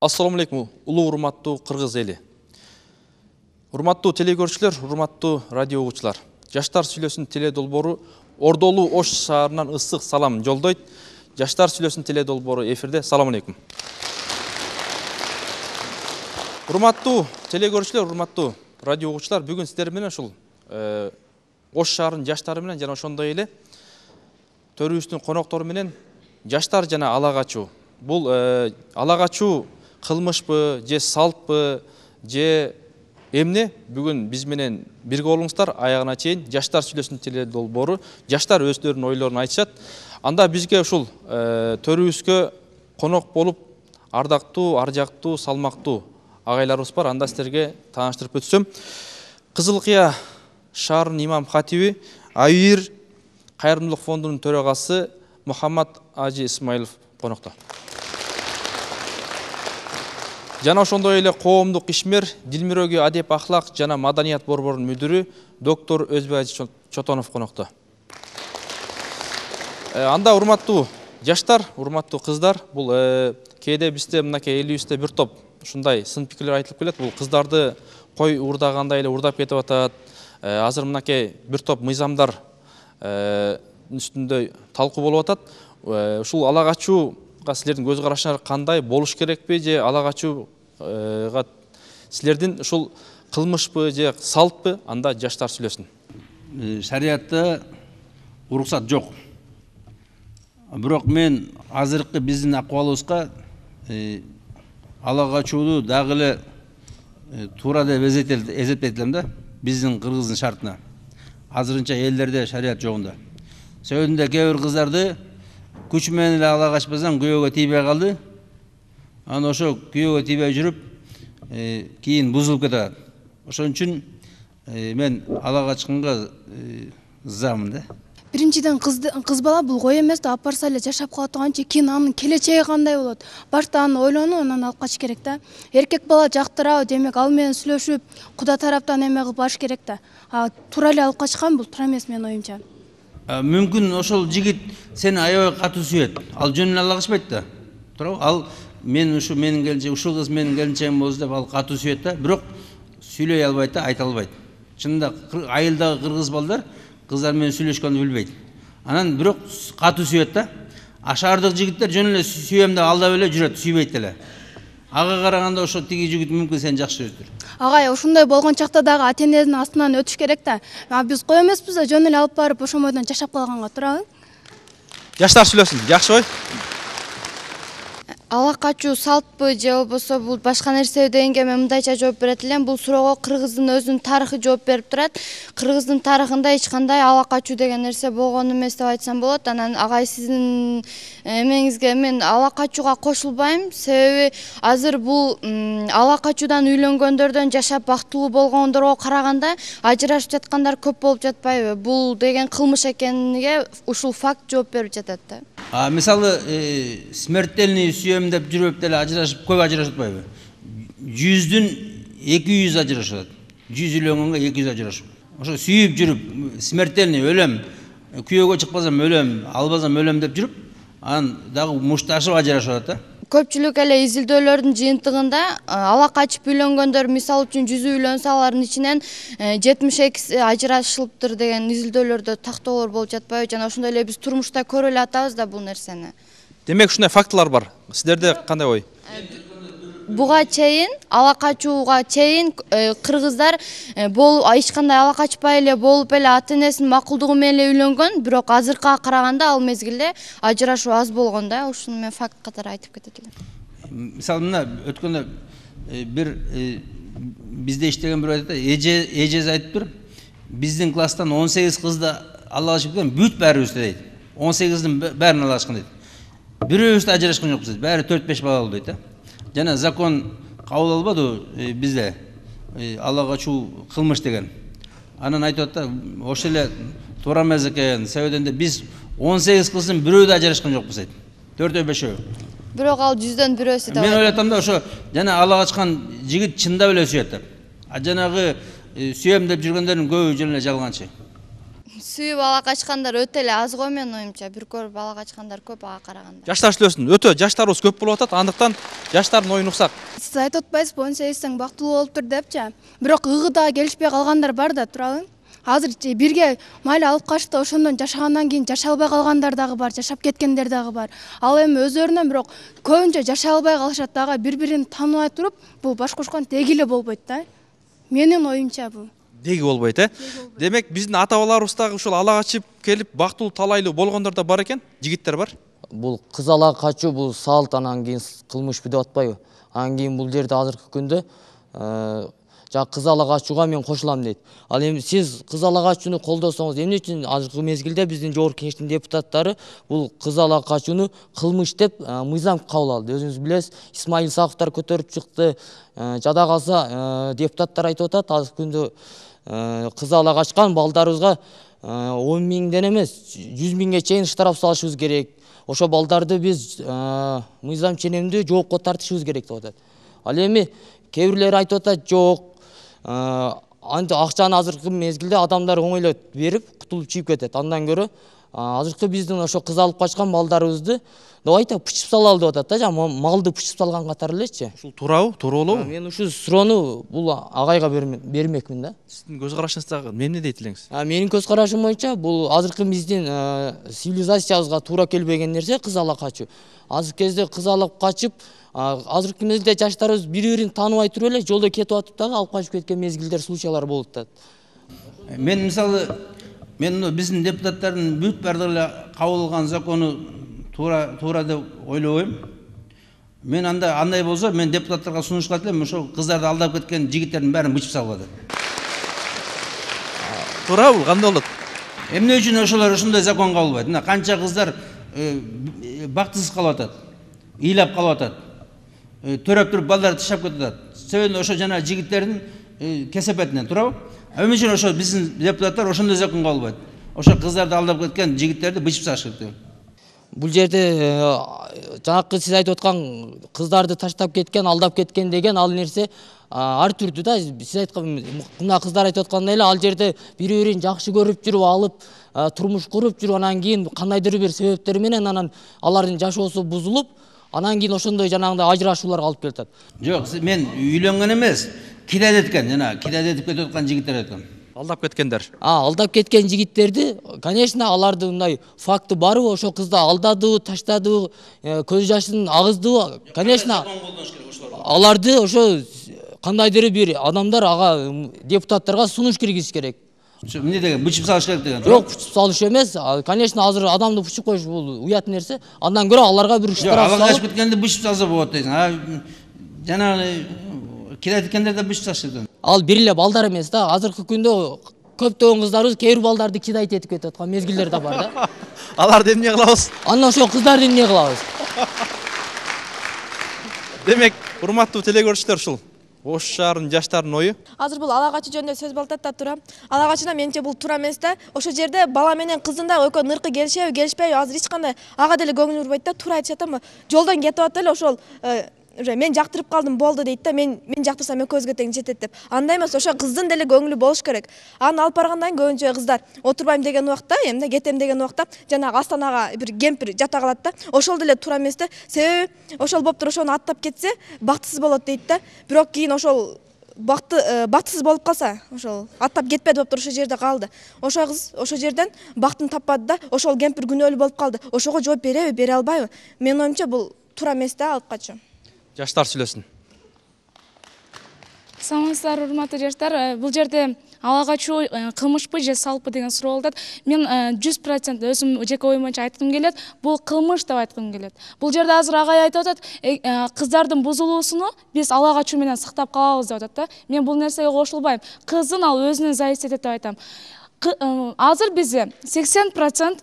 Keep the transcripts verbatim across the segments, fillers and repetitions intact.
Assalamu alaikum, улуу урматтуу кыргыз эли. Урматтуу телекөрүүчүлөр, урматтуу радио угуучулар. Жаштар сүйлөсүн теле долбоору Ордолуу Ош шаарынан ысык салам жолдойт. Жаштар сүйлөсүн теле долбоору эфирде. Салам алейкум. Урматтуу телекөрүүчүлөр, урматтуу радио угуучулар, бүгүн сиздер менен ушул Ош шаарынын жаштары менен жана ошондой эле төрүбүздүн коноктору менен жаштар жана ала качуу. Бул ала качуу кылмышпы, же салтпы, же эмне? Бүгүн биз менен бирге болуңуздар, аягына чейин жаштар сүйлөсүн теле долбоору. Жаштар өздөрүнүн ойлорун айтышат. Анда бизге ушул төрүбүзгө конок болуп ардактуу, аржактуу, салмактуу агайларыбыз бар. Анда сиздерге тааныштырып өтсөм, Кызыл Кыя шаарынын имам хатиби, Айыр кайрымдуулук фондунун төрагасы Мухаммад Ажи Исмаилов конокто. Жана ошондой эле коомдук ишмер, Дилмирөөгө адеп ахлак жана маданият борборунун мүдүрү доктор Өзбай Чотонов конокто. Анда урматтуу жаштар, урматтуу кыздар, бул кээде бизде мынакей элибизде бир топ ушундай сын пикирлер айтылып келет. Бул кыздарды кой урдагандай эле урдап кетип атат. Азыр мынакей бир топ мыйзамдар үстүндө талкуу болуп атат. Ушул ала качууга силердин көз карашыңар кандай, болуш керекпи, же ала качууга силердин ушул кылмышпы же салтпы? Анда жаштар сүйлөсүн. Шариатта уруксат жок. Бирок мен азыркы биздин акыбалыбызга ала качууну дагы эле туура деп эсептейт да, биздин кыргыздын шартына. Азырынча элдерде шариат жогунда. Сөйдүндө кээ бир кыздарды күч менен эле ала качпасаң күйөөгө тийбей калды. Аны ошо күйөөгө тийбей жүрүп, кийин бузулуп кетет. Ошон үчүн мен ала качканга ызамын да. Биринчиден кыз бала бул кой эмес да, апарса эле жашап кала турганчы кийин анын келечеги кандай болот? Башта аны ойлонуп, анан алып качыш керек да. Эркек бала жактырабы, демек ал менен сүйлөшүп, куда тараптан эме кылып баш керек да. А туура эле алып качкан бул туура эмес менин оюмча. Мүмкүн ошол жигит сени аябай катуу сүйөт. Ал жөн эле ала качпайт да. Туурабы? Ал мен ушу менин келинчегим, ушул кыз менин келинчегим болсо деп ал катуу сүйөт да, бирок сүйлөй албайт да, айта албайт. Чынында айылдагы кыргыз балдар кыздар менен сүйлөшкөндү билбейт. Анан бирок катуу сүйөт да. А шаардык жигиттер жөн эле сүйөм деп алдап эле жүрөт, сүйбөйт эле. Ага караганда ошо тиги жигит мүмкүн сени жакшы көрөтүр. Агай, ошондой болгон чакта дагы ата-эненин астынан өтүш керек да. Биз кой эмеспиз да, жөн эле алып барып ошомойдон жашап калганга туурабы? Жаштар сүйлөсүн, жакшы ой. Ала качуу салтпы же болбосо бул башка нерсе дегенге мен мындайча жооп берет элем. Бул суроого кыргыздын өзүнүн тарыхы жооп берип турат. Кыргыздын тарыхында эч кандай ала качуу деген нерсе болгон эмес деп айтсам болот. Анан агай сиздин эмеңизге мен ала качууга кошулбайм. Себеби азыр бул ала качуудан үйлөнгөндөрдөн жашап бактылуу болгондорго караганда ажырашып жаткандар көп болуп жатпайбы? Бул деген кылмыш экениге ушул факт жооп берип жатат да. А мисалы смертельный сүйөм деп жүрүп деле ажырашып, көп ажырашып атпайбы? Жүздүн эки жүз ажырашат. Жүз үйлөнгөнгө эки жүз ажырашып. Ошо сүйүп жүрүп, смертельный өлөм, күйөөгө чыкпасам өлөм, албасам өлөм деп жүрүп, анан дагы мушташып ажырашып атат да. Көпчүлүк эле изилдөөлөрдүн жыйынтыгында ала качып үйлөнгөндөр, мисалы үчүн жүз үйлөнсө, алардын ичинен жетимиш экиси ажырашылыптыр деген изилдөөлөрдө тактоолор болуп жатпайбы? Жана ошондой эле биз турмушта көрүп эле атабыз да бул нерсени. Демек ушундай фактылар бар. Сиздерде кандай ой? Буга чейин, ала качууга чейин кыргыздар эч кандай ала качпай эле болуп эле ата-энесинин макулдугу менен эле үйлөнгөн, бирок азыркыга караганда ал мезгилде ажырашуу аз болгон да. Ушуну мен факт катары айтып кетет элем. Мисалы мына өткөндө бир бизде иштеген бирөө айтат, эжеси айтыптыр, биздин класстан он сегиз кызды ала качып кеткен, бүт баарыбызды дейт. он сегиздин баарын ала качкан дейт. Бирөөбүз да ажырашкан жокпуз дейт. Баары төрт беш бала болду дейт да. Жана закон кабыл албады бизде ала качуу кылмыш деген. Анан айтып атат, ошол эле туура эмес экен. Себебинде биз он сегиз кыздын бирөө да ажырашкан жокпуз дейт. төртөө бешөө. Бирок ал жүздөн бирөөсү да. Мен ойлотом да, ошо жана ала качкан жигит чындап эле сүйөт деп. А жанагы сүйөм деп жүргөндөрдүн көбү жөн эле жалганчы. сүйүп ала качкандар өтө эле аз го менин оюмча. Бир көрүп ала качкандар көп ага караганда. Жаштар сүйлөсүн. Өтө жаштарыбыз көп болуп атат. Андыктан жаштардын оюн уксак. Сиз айтып атпайсызбы, он сегизсең бактылуу болуп тур депчи. Бирок ыгыда келишпей калгандар бар да, туурабы? Азыр бирге майла алып качты, ошондон жашагандан кийин жашай албай калгандар дагы бар, жашап кеткендер дагы бар. Ал эми өздөрүнөн бирок көбүнчө жашай албай калышат дагы, бири-бирин тааныбай туруп, бул баш кошкон деги эле болбойт да. Менин оюмча бул. Деги болбойт, э? Демек биздин ата-бабаларыбыз дагы ушул ала качып келип бактылуу талайлуу болгондор да бар экен, жигиттер бар. Бул кыз ала качуу бул салт, анан кийин кылмышпы деп атпайбы? Анан кийин бул жерде азыркы күндө жана кыз ала качууга мен кошулам дейт. Ал эми сиз кыз ала качууну колдосоңуз, эмне үчүн азыркы мезгилде биздин жогорку кеңештин депутаттары бул кыз ала качууну кылмыш деп мыйзам кабыл алды? Өзүңүз билесиз, Исмаил Саковдор көтөрүп чыкты. Жада калса депутаттар айтып атат, азыркы күндө кыз ала качкан балдарыбызга он миңден эмес, жүз миңге чейин штраф салышыбыз керек. Ошо балдарды биз мыйзам ченемдүү жоопко тартышыбыз керек деп атат. Ал эми кээ бирлери айтып атат, жок, анты акчаны азыркы мезгилде адамдар оңойлой берип кутулуп чыгып кетет. Андан көрө азыркы биздин ошо кыз алып качкан балдарыбызды давайте пучуп салалы деп атат да, жана малды пучуп салган катары элечи. Ушул туурабы? Туура болобу? Мен ушул суроону бул агайга бермекмин да. Сиздин көз карашыңызда эмне дейт элеңиз? Менин көз карашым боюнча бул азыркы биздин цивилизациябызга туура келбеген нерсе кыз ала качуу. Азыркы кезде кыз алып качып, азыркы мезгилде жаштарыбыз бири-бирин тааныбай туруп эле жолдо кетип атып дагы алып качып кеткен мезгилдер, случайлар болуп атат. Мен мисалы, мен биздин депутаттардын бүт баардыгы эле кабыл кылган закону туура туура деп ойлобойм. Мен анда андай болсо, мен депутаттарга сунуш кылат элем, ошол кыздарды алдап кеткен жигиттердин баарын бычып салгыла деп. Туурабы? Кандай болот? Эмне үчүн ошолор ошондой закон кабылбайт? Мына канча кыздар бактысыз калып атат, ыйлап калып атат, төрөп туруп балдарды таштап кетип атат. Себеби ошо жана жигиттердин кесепетинен, туурабы? Эмне үчүн ошо биздин депутаттар ошондой закон кабылбайт? Ошо кыздарды алдап кеткен жигиттерди бычып салыш керек. Бул жерде жанакы сиз айтып аткан кыздарды таштап кеткен, алдап кеткен деген ал нерсе ар түрдүү да. Сиз айткан мына кыздар айтып аткандай эле ал жерде бири-бирин жакшы көрүп жүрүп алып, турмуш куруп жүрүп, анан кийин кандайдыр бир себептер менен анан алардын жашоосу бузулуп, анан кийин ошондой жанагындай ажырашууларга алып келатат. Жок, мен үйлөнгөн эмес, кидет эткен, жана кидет этип кетип аткан жигиттер айткам. Алдап кеткендер. А, алдап кеткен жигиттерди, конечно, алардын мындай факты барбы, ошо кызды алдадыбы, таштадыбы, көз жашын агыздыбы, конечно, аларды ошо кандайдыр бир адамдар ага депутаттарга сунуш киргизиш керек. Эмне деген, бычып салыш керек деген. Жок, бычып салыш эмес. Конечно, азыр адамды бычып коюш бул уят нерсе. Андан көрө аларга бир штраф салып, алгачып кеткенде бычып салса болот дейсиң. А жанагы кидет эткендерди бычып салыш керек. Ал бир эле балдар эмес да. Азыркы күндө көптөгөн кыздарыбыз кээ бир балдарды кидайт этип кетип аткан мезгилдер да бар да. Аларды эмне кылабыз? Андан ошо кыздарды эмне кылабыз? Демек, урматтуу телекөрүүчүлөр, ушул Ош шаарынын жаштарынын ою. Азыр бул ала качуу жөнүндө сөз болуп атат да, туура. Ала качууна менимче бул туура эмес да. Ошол жерде бала менен кыздын да экөө ныркы келишеби, келишпейби, азыр эч кандай ага деле көңүл бурбайт да. Туура айтышат да, жолдон кетип атып эле ошол уже мен жактырып калдым болду дейт да, мен мен жактырсам экөөбүзгө тең жетет деп. Андай эмес, ошо кыздын деле көңүлү болуш керек. Аны алып баргандан кийин көбүнчө кыздар отурбайм деген убакта, эмне кетем деген убакта жанагы астанага бир кемпир жата калат да. Ошол деле туура эмес да. Себеби ошол болуп туруп ошону аттап кетсе, бактысыз болот дейт да. Бирок кийин ошол бакты бактысыз болуп калса, ошол аттап кетпеди болуп туруп ошол жерде калды. Ошол кыз ошол жерден бактын таппады да, ошол кемпир күнөөлүү болуп калды. Ошого жооп береби, бере албайбы? Менин оюмча бул туура эмес да, алып качуу. Жаштар сүйлөсүн. Саламатсыздар, урматтуу жаштар. Бул жерде ала качуу кылмышпы же салпы деген суроо болуп атат. Мен жүз процент өзүм жеке оюм боюнча айткым келет. Бул кылмыш деп айткым келет. Бул жерде азыр агай айтып атат, кыздардын бузулуусуну биз ала качуу менен сактап калабыз деп атат да. Мен бул нерсеге кошулбайм. Кыздын ал өзүнөн зависеть этет деп айтам. Азыр бизде сексен процент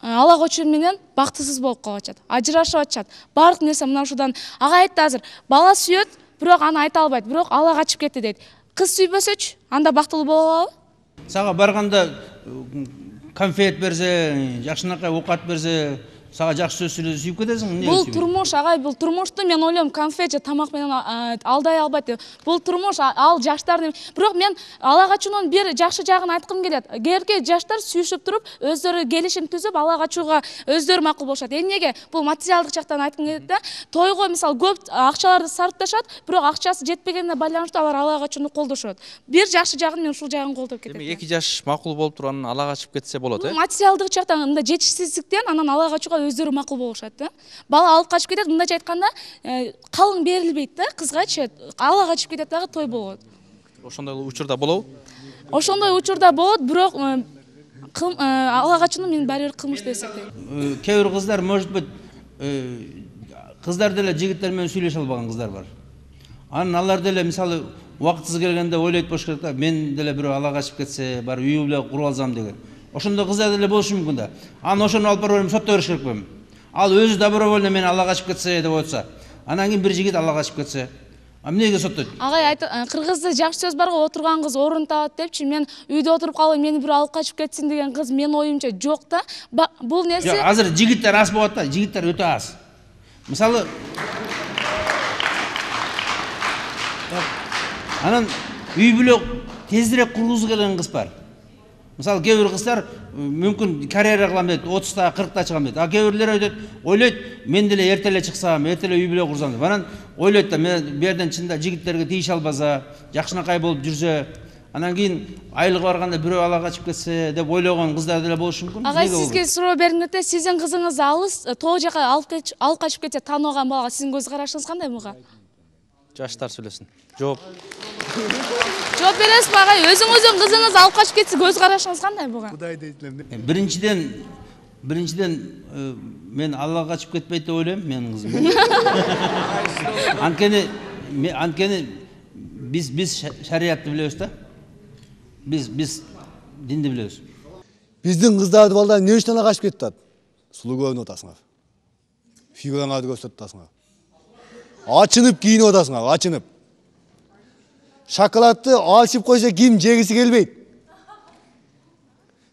ала качуу менен бактысыз болуп калып атышат, ажырашып атышат. Бардык нерсе мына ушудан. Ага айтты азыр, бала сүйөт, бирок аны айта албайт, бирок ала качып кетти дейт. Кыз сүйбөсөчү, анда бактылуу боло алабы? Сага барганда конфет берсе, жакшынакай оокат берсе, сага жакшы сөз сүйлөсө сүйүп кетесиң. Бул турмуш, агай, бул турмушту мен ойлойм конфет же тамак менен алдай албайт деп. Бул турмуш ал жаштардын. Бирок мен ала качуунун бир жакшы жагын айткым келет. Эгерде жаштар сүйүшүп туруп, өздөрү келишим түзүп, ала качууга өздөрү макул болушат. Эмнеге? Бул материалдык жактан айткым келет да. Тойго мисалы көп акчаларды сарпташат, бирок акчасы жетпегенине байланыштуу алар ала качууну колдошот. Бир жакшы жагын мен ушул жагын колдоп кетем. Эми эки жаш макул болуп туруп анан ала качып кетсе болот, э? Материалдык жактан мындай жетишсиздиктен анан ала качууга өздөрү макул болушат да. Бала алып качып кетет, мындайча айтканда, калың берилбейт да, кызгачы. Ала качып кетет дагы той болот. Ошондой учурда болобу? Ошондой учурда болот, бирок ала качууну мен баары бир кылмыш деп эсептейм. Кээ бир кыздар, может быть, кыздар деле жигиттер менен сүйлөшө албаган кыздар бар. Анан алар деле мисалы убактысыз келгенде ойлойт болуш керек да, мен деле бирөө ала качып кетсе, бар үй бүлө куруп алсам деген. Ошондой кыздар деле болушу мүмкүн да. Анан ошону алып барып сотто бериш керек белем. Ал өзү добровольно мен ала качып кетсе деп отса, анан кийин бир жигит ала качып кетсе, а эмнеге соттойт? Агай, кыргызда жакшы сөз бар го, отурган кыз орун табат депчи. Мен үйдө отуруп калып, мени бир алып качып кетсин деген кыз менин оюмча жок да. Бул нерсе Жок, азыр жигиттер аз болот да, жигиттер өтө аз. Мисалы анан үй бүлө тезирээк кургузу келген кыз бар. Мисалы кээ бир кыздар мүмкүн карьера кылам дейт, отузда, кыркта чыгам дейт. А кээ бирлер айтат, ойлойт, мен деле эртеле чыксам, эртеле үй бүлө курсам деп. Анан ойлойт да, мен бу жерден чында жигиттерге тийише албаса, жакшынакай болуп жүрсө, анан кийин айлыгы барганда бирөө ала качып кетсе деп ойлогон кыздар деле болушу мүмкүн. Агай, сизге суроо бергим келет, сиздин кызыңыз алыс, тоо жака алып качып кетсе, тааныбаган балага сиздин көз карашыңыз кандай буга? Жаштар сүйлөсүн. Жооп. Жооп бересизби агай? Өзүңүздүн кызыңыз алып качып кетсе, көз карашыңыз кандай буга? Кудайды этлем. Биринчиден, биринчиден мен ала качып кетпейт деп ойлойм, менин кызым. Анткени, анткени биз биз шариятты билебиз да. Биз биз динди билебиз. Биздин кыздарды балдар эмне үчүн ала качып кетип атат? Сулуу көрүнүп атасыңар. Фигураңарды көрсөтүп атасыңар. Ачынып кийинип атасыңар, ачынып. Шоколадты алышып койсо ким жегиси келбейт.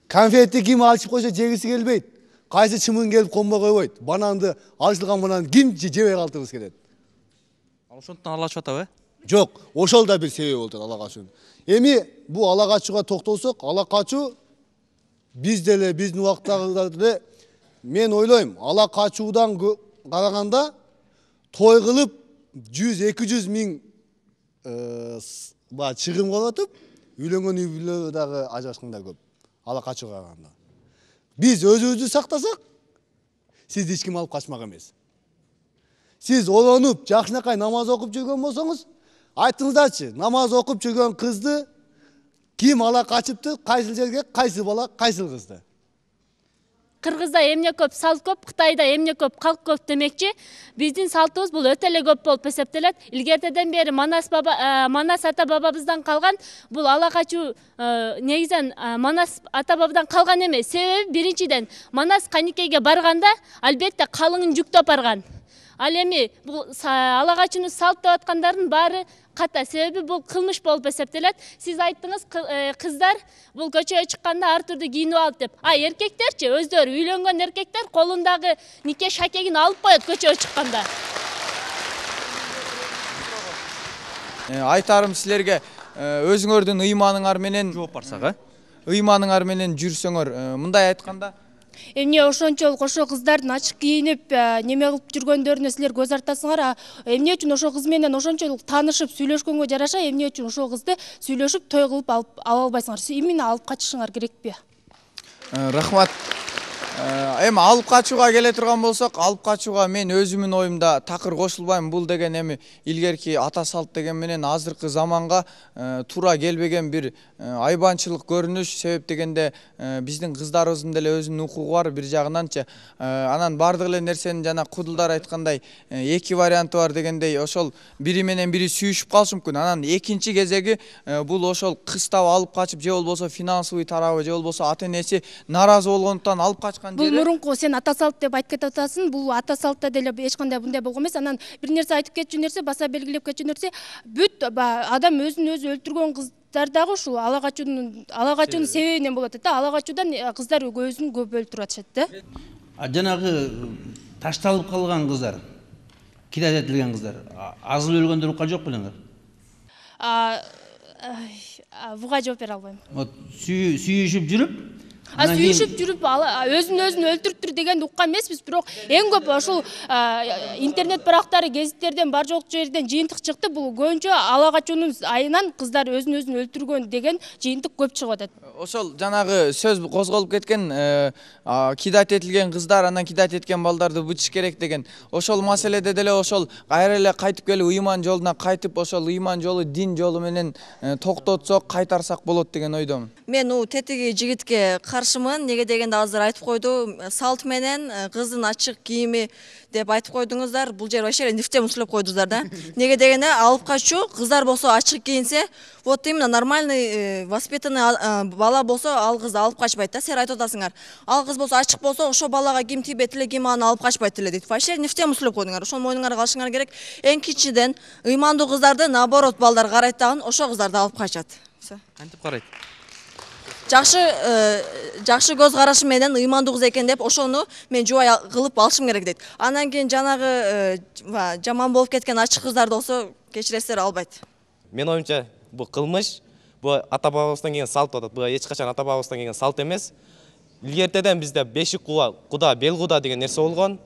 Конфетти ким алышып койсо жегиси келбейт. Кайсы чымын келип конбой койбойт. Бананды, алышылган бананды ким жебей калтырыбыз келет. Ошондон ала качып атабы? Жок, ошол да бир себеп болот ала качуунун. Эми бу ала качууга токтолсок, ала качуу биз деле биздин убактагыда деле мен ойлойм, ала качуудан караганда той кылып жүз эки жүз миң ба чыгым кылып атып, үйлөнгөн үй бүлө дагы ажырашкандар көп. Ала качууга караганда. Биз өзүбүздү сактасак, сизди эч ким алып качмак эмес. Сиз олонуп, жакшынакай намаз окуп жүргөн болсоңуз, айтыңыздарчы, намаз окуп жүргөн кызды ким ала качыптыр, кайсыл жерге, кайсы бала, кайсыл кызды? Кыргызда эмне көп, салт көп, Кытайда эмне көп, калк көп демекчи. Биздин салтыбыз бул өтө эле көп болуп эсептелет. Илгертеден бери Манас баба, Манас ата бабабыздан калган, бул ала качуу негизен Манас ата бабадан калган эмес. Себеби биринчиден Манас каникейге барганда албетте калыңын жүктөп барган. Ал эми бул ала качууну салт деп аткандардын баары ката, себеби бул кылмыш болуп эсептелет. Сиз айттыңыз, кыздар бул көчөгө чыкканда ар түрдүү кийинип алып деп. А эркектерчи, өздөрү үйлөнгөн эркектер колундагы нике шакегин алып коет көчөгө чыкканда. Айтарым силерге, өзүңөрдүн ыйманыңар менен жооп барсак, э? Ыйманыңар менен жүрсөңөр, мындай айтканда, эмне ошончолук ошо кыздардын ачык кийинип неме кылып жүргөндөрүнө силер көз артасыңар, а эмне үчүн ошо кыз менен ошончолук таанышып сүйлөшкөнгө жараша, эмне үчүн ошо кызды сүйлөшүп той кылып алып ала албайсыңар? Именно алып качышыңар керекпи? Рахмат. Эми алып качууга келе турган болсок, алып качууга мен өзүмдүн оюмда такыр кошулбайм. Бул деген эми илгерки ата салт деген менен азыркы заманга туура келбеген бир айбанчылык көрүнүш. Себеп дегенде биздин кыздарыбыздын деле өзүнүн укугу бар бир жагынанчы. Анан бардык эле нерсенин жана кудулдар айткандай эки варианты бар дегендей, ошол бири менен бири сүйүшүп калышы мүмкүн. Анан экинчи кезеги бул ошол кыз таап алып качып, же болбосо финансовый тарабы, же болбосо ата энеси наразы болгондуктан алып качкан. Бул мурунку сен ата салт деп айтып кетип атасың. Бул ата салтта деле эч кандай мындай болгон эмес. Анан бир нерсе айтып кетчү нерсе, баса белгилеп кетчү нерсе, бүт адам өзүн өзү өлтүргөн кыздар дагы ушул ала качуунун ала качуунун себебинен болот да. Ала качуудан кыздар өзүн көп өлтүрүп атышат да. жанагы ташталып калган кыздар, кидат этилген кыздар, азыл өлгөндөр укка жок белеңер? Буга жооп бере албайм. Вот сүйүшүп жүрүп, сүйүшүп жүрүп өзүн өзүн өлтүрүптүр дегенди уккан эмеспиз, бирок эң көп ошол интернет барактары, гезиттерден бар жок жерден жыйынтык чыкты. Бул көбүнчө ала качуунун айынан кыздар өзүн өзүн өлтүргөн деген жыйынтык көп чыгып атат. Ошол жанагы сөз козголуп кеткен, кидат этилген кыздар, анан кидат эткен балдарды бутуш керек деген. Ошол маселеде деле ошол кайра эле кайтып келип ыйман жолуна кайтып, ошол ыйман жолу, дин жолу менен токтотсок, кайтарсак болот деген ойдомун. Мен у тетиги жигитке каршымын. Неге дегенде азыр айтып койду, салт менен кыздын ачык кийими деп айтып койдуңуздар. Бул жер вообще нефтем услеп койдуңуздар да. Неге дегенде алып качуу, кыздар болсо ачык кийинсе, вот именно нормальный воспитанный бала болсо ал кызды алып качпайт да. Сен айтып атасыңар. Ал кыз болсо ачык болсо, ошо балага ким тийбейт эле, ким аны алып качпайт эле дейт. Вообще нефтем услеп койдуңар. Ошону мойнуңарга алышыңар керек. Эң кичиден ыймандуу кыздарды наоборот балдар карайт дагы, ошо кыздарды алып качат. Кантип карайт? Жакшы жакшы көз карашы менен ыймандуу кыз экен деп ошону мен жубай кылып алышым керек дейт. Андан кийин жанагы жаман болуп кеткен ачык кыздарды болсо кечиресиздер, албайт. Мен оюмча бул кылмыш, бул ата бабабыздан келген салт болот. Бул эч качан ата бабабыздан келген салт эмес. Илгертеден бизде бешик куда, бел куда деген нерсе болгон.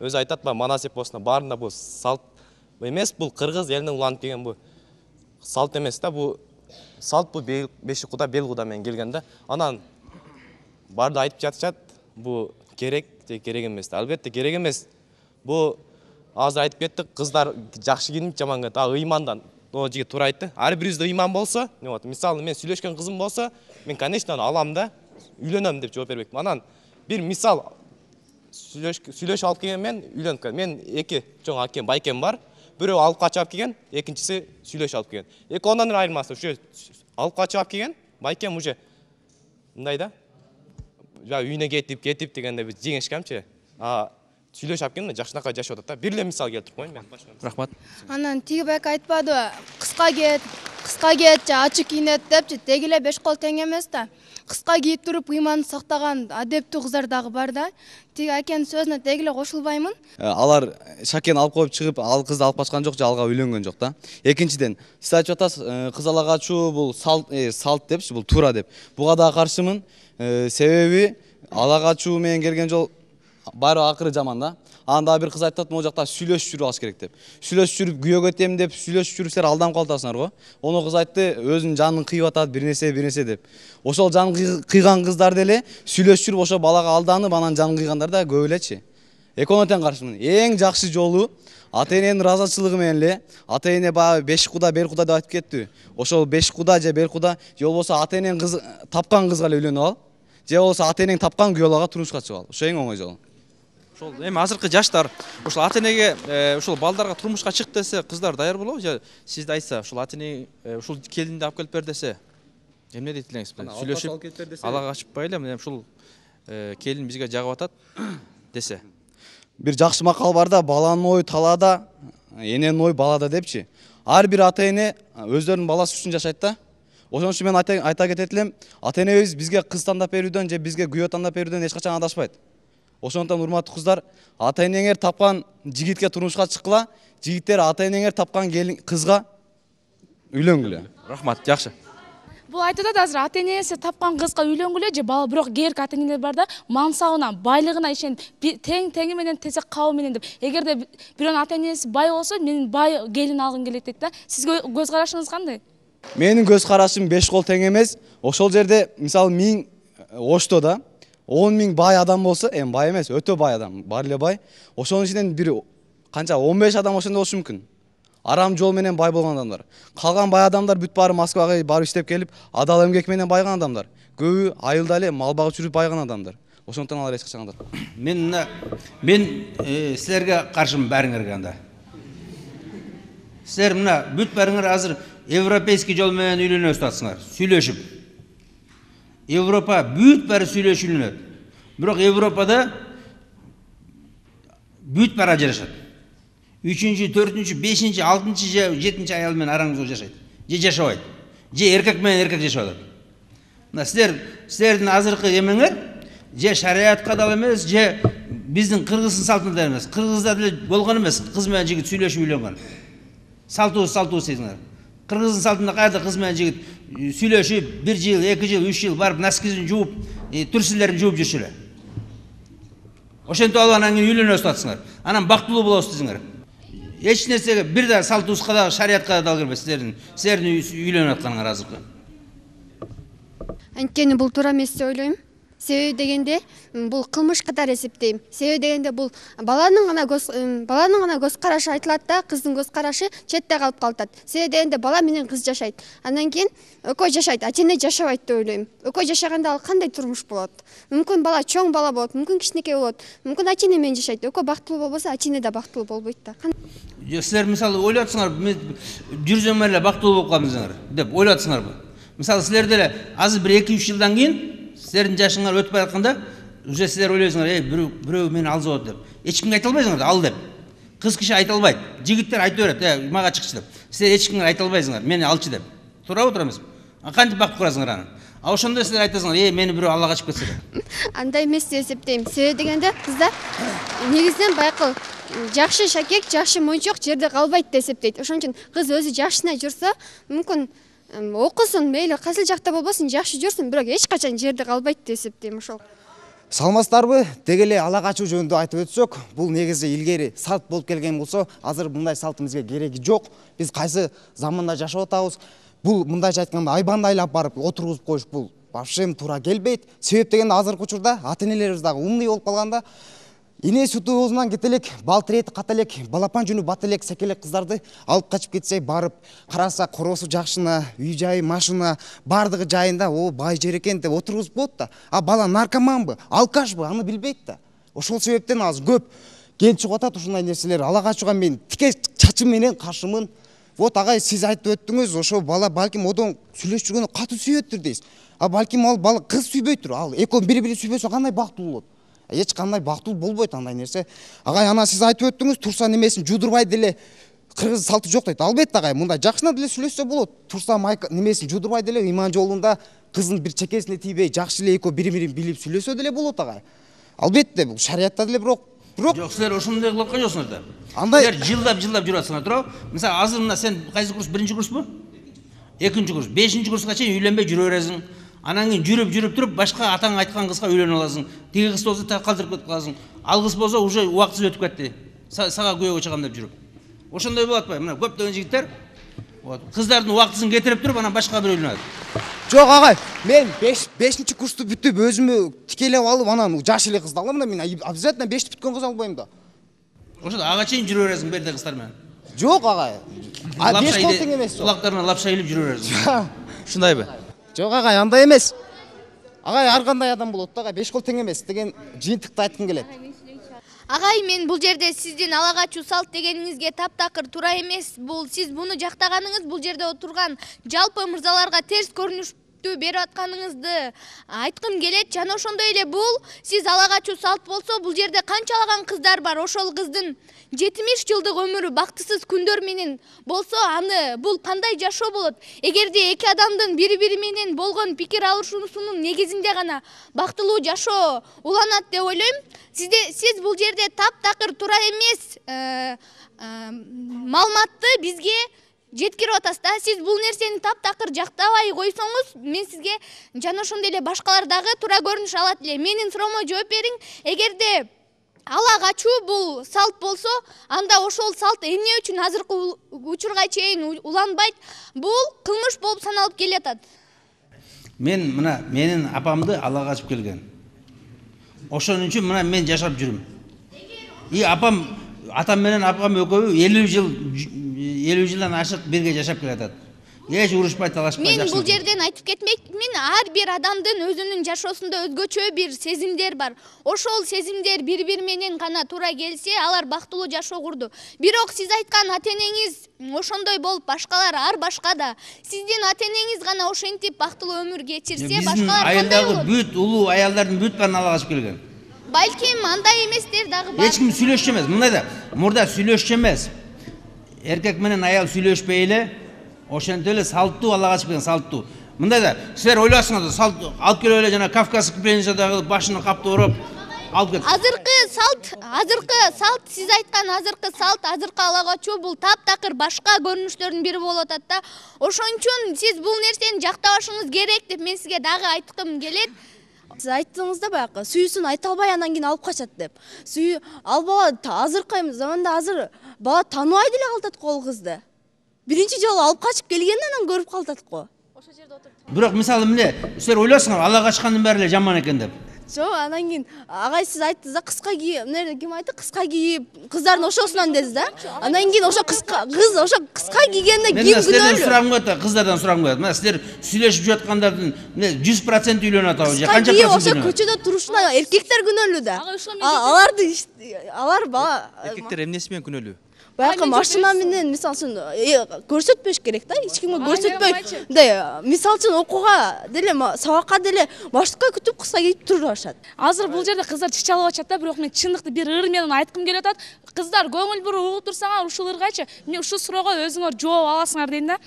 Өзү айтат, манас эпосунда баарында бул салт эмес, бул кыргыз элинен уланып келген бул салт эмес да, бул салт бул бешик куда, бел куда менен келген да. Анан барды айтып жатышат, бул керек же керек эмес. Албетте керек эмес. Бул азыр айтып кеттик, кыздар жакшы кийинип, жаман кийинип, а ыймандан о жигит туура айтты. Ар бирибизде ыйман болсо, вот мисалы мен сүйлөшкөн кызым болсо, мен конечно алам да, үйлөнөм деп жооп бербекмин. Анан бир мисал сүйлөшүп алып келген мен үйлөнүп келдим. Мен эки чоң акем, байкем бар. Бирөө алып качып алып келген, экинчиси сүйлөшүп алып келген. Экөөнүн айырмасы ушу алып качып алып келген, байкем уже мындай да. Я үйүнө кетип, кетип дегенде биз жеңишкемчи. А сүйлөшүп алып келген жакшынака жашап атат да. Бир эле мисал келтирип коеюн мен. Рахмат. Анан тиги байка айтпадыбы, кыска кет, кыска кет, же ачык кийинет депчи, деги эле беш кол тең эмес да. Кыска кийип туруп ыйманын сактаган адептүү кыздар дагы бар да. Тиги акенин сөзүнө деги эле кошулбаймын. Алар шакен алып коюп чыгып, ал кызды алып качкан жок же алга үйлөнгөн жок да. Экинчиден, сиз айтып атасыз, кыз ала качуу бул салт, салт депчи, бул туура деп. Буга да каршымын. Себеби ала качуу менен келген жол баары акыры жаман да. Анда бир кыз айтат, могу жакта сүйлөшүп жүрүп алыш керек деп. Сүйлөшүп жүрүп күйөөгө кетем деп, сүйлөшүп жүрүп силер алданып калатасыңар го. Ону кыз айтты, өзүнүн жанын кыйып атат, бир нерсе, бир нерсе деп. Ошол жан кыйган кыздар деле сүйлөшүп жүрүп ошо балага алданып, анан жанын кыйгандар да көп элечи. Экөөнүнө тең каршымын. Эң жакшы жолу ата эненин ыраазычылыгы менен эле, ата эне баягы беш куда, бел куда деп айтып кетти. Ошол беш куда же бел куда, же болбосо ата эненин кыз тапкан кызга эле үйлөнүп ал, же болбосо ата энең тапкан күйөөлөргө турмушка чыгып ал. Ошо эң оңой жолу. Ошол эми азыркы жаштар ошол ата энеге ошол балдарга турмушка чык десе, кыздар даяр болобу же сизде айтса, ошол ата эне ушул келинди алып келип бер десе, эмне дейт элеңиз? Сүйлөшүп ала качпай эле, мына ушул келин бизге жагып атат десе. Бир жакшы макал бар да, баланын ою талаада, эненин ою балада депчи. Ар бир ата эне өздөрүнүн баласы үчүн жашайт да. Ошон үчүн мен айта кетет элем, ата энебиз бизге кыз тандап берүүдөн же бизге күйөө тандап берүүдөн эч качан адашпайт. Ошондон урматтуу кыздар, ата энеңер тапкан жигитке турмушка чыккыла, жигиттер ата энеңер тапкан кызга үйлөнгүлө. Рахмат, жакшы. Бул айтып атат азыр ата энеси тапкан кызга үйлөнгүлө же бала, бирок кээрки ата энелер бар да, мансабына, байлыгына ишенип, тең теңи менен тесек кабы менен деп. Эгерде бирөөнүн ата энеси бай болсо, мен бай келин алгым келет дейт да. Сизге көз карашыңыз кандай? Менин көз карашым беш кол тең эмес. Ошол жерде мисалы миң Ошто да он миң бай адам болсо, эми бай эмес, өтө бай адам, бар эле бай. Ошонун ичинен бир канча он беш адам ошондой болушу мүмкүн. Арам жол менен бай болгон адамдар. Калган бай адамдар бүт баары Москвага барып иштеп келип, адал эмгек менен байыган адамдар. Көбү айылда эле мал багып жүрүп байыган адамдар. Ошондон алар эч качан андай. Мен мен силерге каршымын баарыңарга анда. Силер мына бүт баарыңар азыр европейский жол менен үйлөнөсүз атсыңар, сүйлөшүп. Европа бүт баары сүйлөшүп үйлөнөт. Бирок Европада бүт баары ажырашат. үчүнчү, төртүнчү, бешинчи, алтынчы же жетинчи аял менен араңызда жашайт. Же жашабайт. Же эркек менен эркек жашап атат. Мына силер, силердин азыркы эмеңер же шариатка дал эмес, же биздин кыргыздын салтында эмес, кыргызда деле болгон эмес, кыз менен жигит сүйлөшүп үйлөнгөн. Салтыбыз салтыбыз дейсиңер. Кыргыздын салтында кайда кыз менен жигит сүйлөшүп, бир жыл, эки жыл, үч жыл барып носкисин жууп, түрсүлөрүн жууп жүрчү эле. Ошентип алып анан кийин үйлөнөсүз атсыңар. Анан бактылуу болосуз десиңер. Эч нерсеге бир да салтыбызга да, шариятка да кирбес силердин, силердин үйлөнүп атканыңар азыркы. Анткени бул туура эмес деп ойлойм. Себеби дегенде бул кылмыш катары эсептейм. Себеби дегенде бул баланын гана көз баланын гана көз карашы айтылат да, кыздын көз карашы четте калып калат. Себеби дегенде бала менен кыз жашайт. Андан кийин экөө жашайт, ата-эне жашабайт деп ойлойм. Экөө жашаганда ал кандай турмуш болот? Мүмкүн бала чоң бала болот, мүмкүн кичинекей болот, мүмкүн ата-эне менен жашайт. Экөө бактылуу болбосо, ата-эне да бактылуу болбойт да. Силер мисалы ойлоп атсыңар, жүрсөң эле бактылуу болуп калдыңар деп ойлоп атсыңарбы? Мисалы силер деле азыр бир эки үч жылдан кийин силердин жашыңар өтүп баратканда уже силер ойлойсуңар, эй, бирөө мени алзып атат деп. Эч кимге айта албайсыңар ал деп. Кыз киши айта албайт. Жигиттер айта берет, э, мага чыкчы деп. Силер эч кимге айта албайсыңар, мени алчы деп. Туурабы, туура эмеспи? А кантип бактып курасыңар аны? А ошондо силер айтасыңар, эй, мени бирөө алла качып кетсе деп. Андай эмес деп эсептейм. Себеби дегенде кыздар негизинен байкы жакшы шакек, жакшы мончок жерде калбайт деп эсептейт. Ошон үчүн кыз өзү жакшына жүрсө, мүмкүн окусун, мейли кайсыл жакта болбосун, жакшы жүрсүн, бирок эч качан жерде калбайт деп эсептейм ошол. Салмастарбы, деги эле ала качуу жөнүндө айтып өтсөк, бул негизи илгери салт болуп келген болсо, азыр мындай салт бизге кереги жок. Биз кайсы заманда жашап атабыз? Бул мындайча айтканда айбанды айлап барып отургузуп коюш бул вообще туура келбейт. Себеп дегенде азыркы учурда ата-энелерибиз дагы умный болуп калганда, ине сүтү оозунан кете элек, бал тирети ката элек, балапан жүнү бата элек секелек кыздарды алып качып кетсе, барып караса коросу жакшына, үй жайы, машина, бардыгы жайында, о бай жер экен деп отургузуп коет да. А бала наркоманбы, алкашбы, аны билбейт да. Ошол себептен азыр көп келип чыгып атат ушундай нерселер. Ала качууга мен тике чачым менен каршымын. Вот агай, сиз айтып өттүңүз, ошол бала балким одон сүйлөшүп жүргөндө катуу сүйөттүр дейсиз. А балким ал бала кыз сүйбөйтүр. Ал экөө бири-бири сүйбөсө кандай бактылуу болот? Эч кандай бактылуу болбойт андай нерсе. Агай, ана сиз айтып өттүңүз, турса немесин жудурбай деле кыргыз салты жок дейт. Албетте агай, мындай жакшына деле сүйлөшсө болот. Турса майка немесин жудурбай деле иман жолунда кыздын бир чекесине тийбей, жакшы эле экөө бири-бирин билип сүйлөсө деле болот агай. Албетте бул шариятта деле бирок бирок жок, силер ошондой кылып аткан жоксуңар да. Андай силер жылдап-жылдап жүрүп атсыңар, туурабы? Мисалы азыр мына сен кайсы курс? Биринчи курспу? Экинчи курс. Бешинчи курска чейин үйлөнбөй жүрө бересиң. Анан кийин жүрүп жүрүп туруп башка атаң айткан кызга үйлөнүп аласың. Тиги кыз болсо так калтырып кетип каласың. Ал кыз болсо уже убактысы өтүп кетти. Сага күйөөгө чыгам деп жүрүп. Ошондой болот атпайбы? Мына көптөгөн жигиттер кыздардын убактысын кетирип туруп анан башка бирөө үйлөнөт. Жок агай, мен бешинчи курсту бүтүп өзүмө тикелеп алып анан жаш эле кызды алам да, мен обязательно бешти бүткөн кыз албайм да. Ошондо ага чейин жүрө бересиң берде кыздар менен. Жок агай. А беш кол тең эмес. Кулактарына лапша илип жүрө бересиң. Ушундайбы? Жок агай, андай эмес. Агай ар кандай адам болот да, агай беш кол тең эмес деген жыйынтыкты айткым келет. Агай, мен бул жерде сиздин ала качуу салт дегениңизге таптакыр туура эмес. Бул сиз буну жактаганыңыз, бул жерде отурган жалпы мырзаларга терс көрүнүш берип атканыңызды айткым келет. Жана ошондой эле бул сиз ала качуу салт болсо, бул жерде канчалаган кыздар бар. Ошол кыздын жетимиш жылдык өмүрү бактысыз күндөр менен болсо, аны бул кандай жашоо болот? Эгерде эки адамдын бири-бири менен болгон пикир алышуусунун негизинде гана бактылуу жашоо уланат деп ойлойм. Сизде сиз бул жерде таптакыр туура эмес маалыматты бизге жеткирип атасыз да. Сиз бул нерсени таптакыр жактабай койсоңуз, мен сизге жана ошондой эле башкалар дагы туура көрүнүш алат эле. Менин суроомо жооп бериң. Эгерде ала качуу бул салт болсо, анда ошол салт эмне үчүн азыркы учурга чейин уланбайт? Бул кылмыш болуп саналып келатат. Мен мына менин апамды ала качып келген. Ошон үчүн мына мен жашап жүрүм. И апам, атам менен апам экөө элүү жыл элүү жылдан ашык бирге жашап келатат. Эч урушпай талашпай жашап. Мен бул жерден айтып кетмекмин, ар бир адамдын өзүнүн жашоосунда өзгөчө бир сезимдер бар. Ошол сезимдер бири-бири менен гана туура келсе, алар бактылуу жашоо курду. Бирок сиз айткан ата-энеңиз ошондой болуп, башкалар ар башка да. Сиздин ата-энеңиз гана ошентип бактылуу өмүр кечирсе, башкалар кандай болот? Айылдагы бүт улуу аялдардын бүт баарын ала качып келген. Балким андай эместер дагы бар. Эч ким сүйлөшчү эмес. Мындай да, мурда сүйлөшчү эмес. Эркек менен аял сүйлөшпөй эле, ошентип эле салттуу ала качып келген, салттуу. Мындай да, силер ойлосуңар, салт алып келип эле жана Кавказский пленницадагы башына капты уруп, алып кет. Азыркы салт, азыркы салт, сиз айткан азыркы салт, азыркы ала качуу бул таптакыр башка көрүнүштөрдүн бири болуп атат да. Ошон үчүн сиз бул нерсени жактабашыңыз керек деп мен сизге дагы айткым келет. Сиз айттыңыз да баягы сүйүүсүн айта албай анан кийин алып качат деп. Сүйүү ал бала азыркы заманда азыр бала тааныбай деле калтат го ал кызды. Биринчи жолу алып качып келгенден анан көрүп калтат го. Бирок мисалы эмне, силер ойлосуңар ала качкандын баары эле жаман экен деп. Жок, анан кийин агай сиз айттыңыз да кыска кийип, эмне ким айтты? Кыска кийип, кыздардын ошосунан дедиз да. Анан кийин ошо кыска кыз ошо кыска кийгенде ким күнөөлүү? Силерден сурагым келет, кыздардан сурагым келет. Мына силер сүйлөшүп жаткандардын жүз процент үйлөнүп атабы же канча процент? Ошо көчөдө турушуна эркектер күнөөлүү да. Аларды алар бала Эркектер эмнеси менен күнөөлүү? Баягы машина менен мисалы үчүн көрсөтпөш керек да, эч кимге көрсөтпөй. Мындай мисалы үчүн окууга деле, сабакка деле маршрутка күтүп кыска кийип турушат. Азыр бул жерде кыздар чычалып атат да, бирок мен чындыкты бир ыр менен айткым келип атат. Кыздар көңүл буруп угуп турсаңар ушул ыргачы, мен ушул суроого өзүңөр жооп аласыңар дейм да.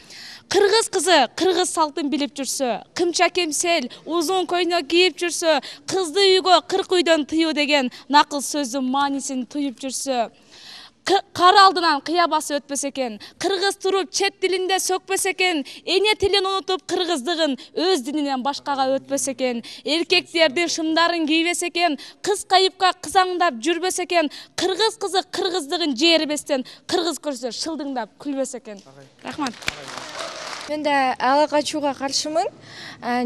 Кыргыз кызы кыргыз салтын билип жүрсө, кымча кемсел, узун көйнөк кийип жүрсө, кызды үйгө кырк үйдөн тыюу деген накыл сөздүн маанисин туюп жүрсө, кар алдынан кыя басып өтпөс экен, кыргыз туруп чет тилинде сөкпөс экен, эне тилин унутуп кыргыздыгын өз дининен башкага өтпөс экен, эркектердин шымдарын кийбес экен, кыз кайыпка кызаңдап жүрбөс экен, кыргыз кызы кыргыздыгын жээрбестен, кыргыз көрсө шылдыңдап күлбөс экен. Рахмат. Мен да ала качууга каршымын.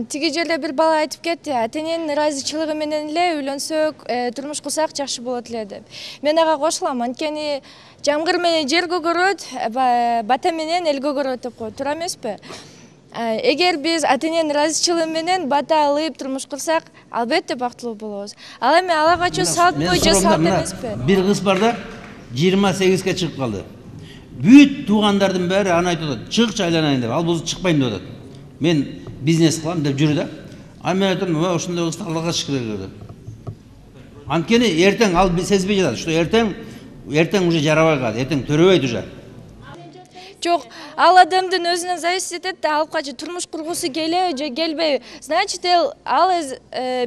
Тиги жерде бир бала айтып кетти, ата-эненин ыраазычылыгы менен эле үйлөнсөк, турмуш курсак жакшы болот эле деп. Мен ага кошулам, анткени жамгыр менен жер көгөрөт, бата менен эл көгөрөт деп коет, туура эмеспи? Эгер биз ата-эненин ыраазычылыгы менен бата алып турмуш курсак, албетте бактылуу болобуз. Ал эми ала качуу салтпы же салт эмеспи? Бир кыз бар да, жыйырма сегизге чыгып калды. Бүт туугандардын баары аны айтып атат, чыкчы айланайын деп, ал болсо чыкпайм деп атат. Мен бизнес кылам деп жүрү да. А мен айтам, ошондой кызды ала качыш керек деп. Анткени эртең ал сезбей жатат, что эртең эртең уже жарабай калат, эртең төрөбөйт уже. Жок, ал адамдын өзүнөн зависит этет да, алып качып турмуш кургусу келеби же келбейби. Значит, ал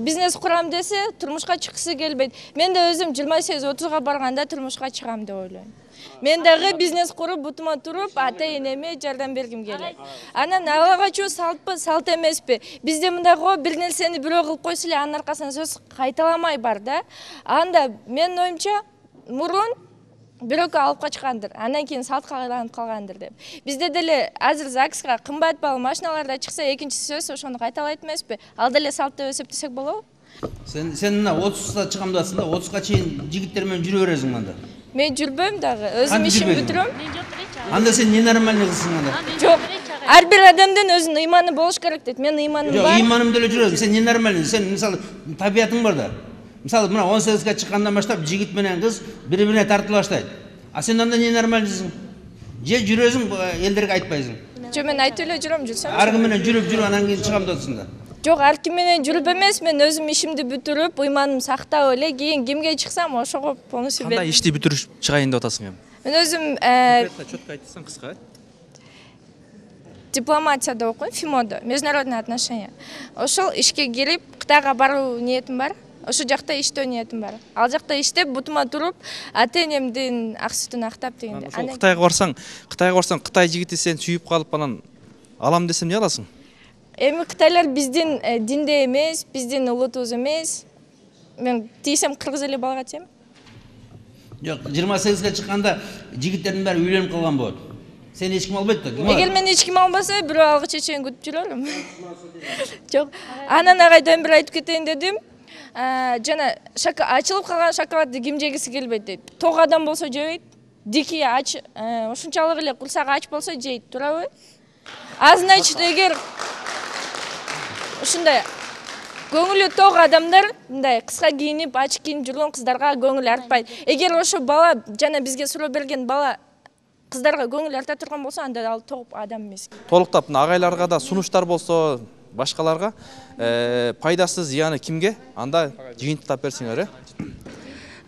бизнес курам десе, турмушка чыккысы келбейт. Мен да өзүм жыйырма сегиз отузга барганда турмушка чыгам деп ойлойм. Мен дагы бизнес куруп, бутума туруп, ата-энеме жардам бергим келет. Анан ала качуу салтпы, салт эмеспи? Бизде мындай го, бир нерсени бирөө кылып койсо эле анын аркасынан сөз кайталамай бар да. Анда менин оюмча мурун бирөкө алып качкандыр, андан кийин салтка айланып калгандыр деп. Бизде деле азыр ЗАГСка кымбат баалуу машиналарда чыкса, экинчи сөз ошону кайталайт эмеспи? Ал деле салт деп эсептесек болобу? Сен сен мына отузда чыгам деп атсың да, отузга чейин жигиттер менен жүрө бересиң анда. Мен жүрбөйм дагы, өзүм ишим бүтүрөм. Анда сен ненормальный кызсың анда. Жок, ар бир адамдын өзүнүн ыйманы болуш керек дейт. Менин ыйманым бар. Жок, ыйманым деле жүрөм. Сен ненормальный, сен мисалы табиятың бар да. Мисалы мына он сегизге чыккандан баштап жигит менен кыз бири-бирине тартыла баштайт. А сен анда ненормальныйсың. Же жүрөсүң, элдерге айтпайсың. Жок, мен айтып эле жүрөм, жүрсөм. Ар ким менен жүрүп жүрүп анан кийин чыгам деп атсың да. Жок, ар ким менен жүрүп эмес, мен өзүм ишимди бүтүрүп, ыйманымды сактап эле кийин кимге чыксам, ошого полностью берем. Кандай ишти бүтүрүп чыгайын деп атасың эми? Мен өзүм чөткө айтсаң кыска. Дипломатияда окуйм, ФИМОдо, международные отношения. Ошол ишке кирип, Кытайга баруу ниетим бар. Ошол жакта иштөө ниетим бар. Ал жакта иштеп, бутума туруп, ата-энемдин ак сүтүн актап дегенде. Ошол Кытайга барсаң, Кытайга барсаң, Кытай жигити сен сүйүп калып анан алам десем эмне аласың? Эми кытайлар биздин динде эмес, биздин улутубуз эмес. Мен тийсем кыргыз эле балага тием. Жок, жыйырма сегизге чыкканда жигиттердин баары үйлөнүп калган болот. Сени эч ким албайт да. Эгер мени эч ким албаса, бирөө алгыча чейин күтүп жүрөлүм. Жок, анан агайдан бир айтып кетейин дедим. Жана ачылып калган шоколадты ким жегиси келбейт дейт. Ток адам болсо жебейт, дикий ач, ушунчалык эле курсагы ач болсо жейт, туурабы? А значит, эгер ушундай көңүлү ток адамдар мындай кыска кийинип, ач кийинип жүргөн кыздарга көңүл артпайт. Эгер ошо бала жана бизге суроо берген бала кыздарга көңүл арта турган болсо, анда ал ток адам эмес. Толуктап агайларга да сунуштар болсо, башкаларга пайдасы зыяны кимге? Анда жыйынтыктап берсиңер, э?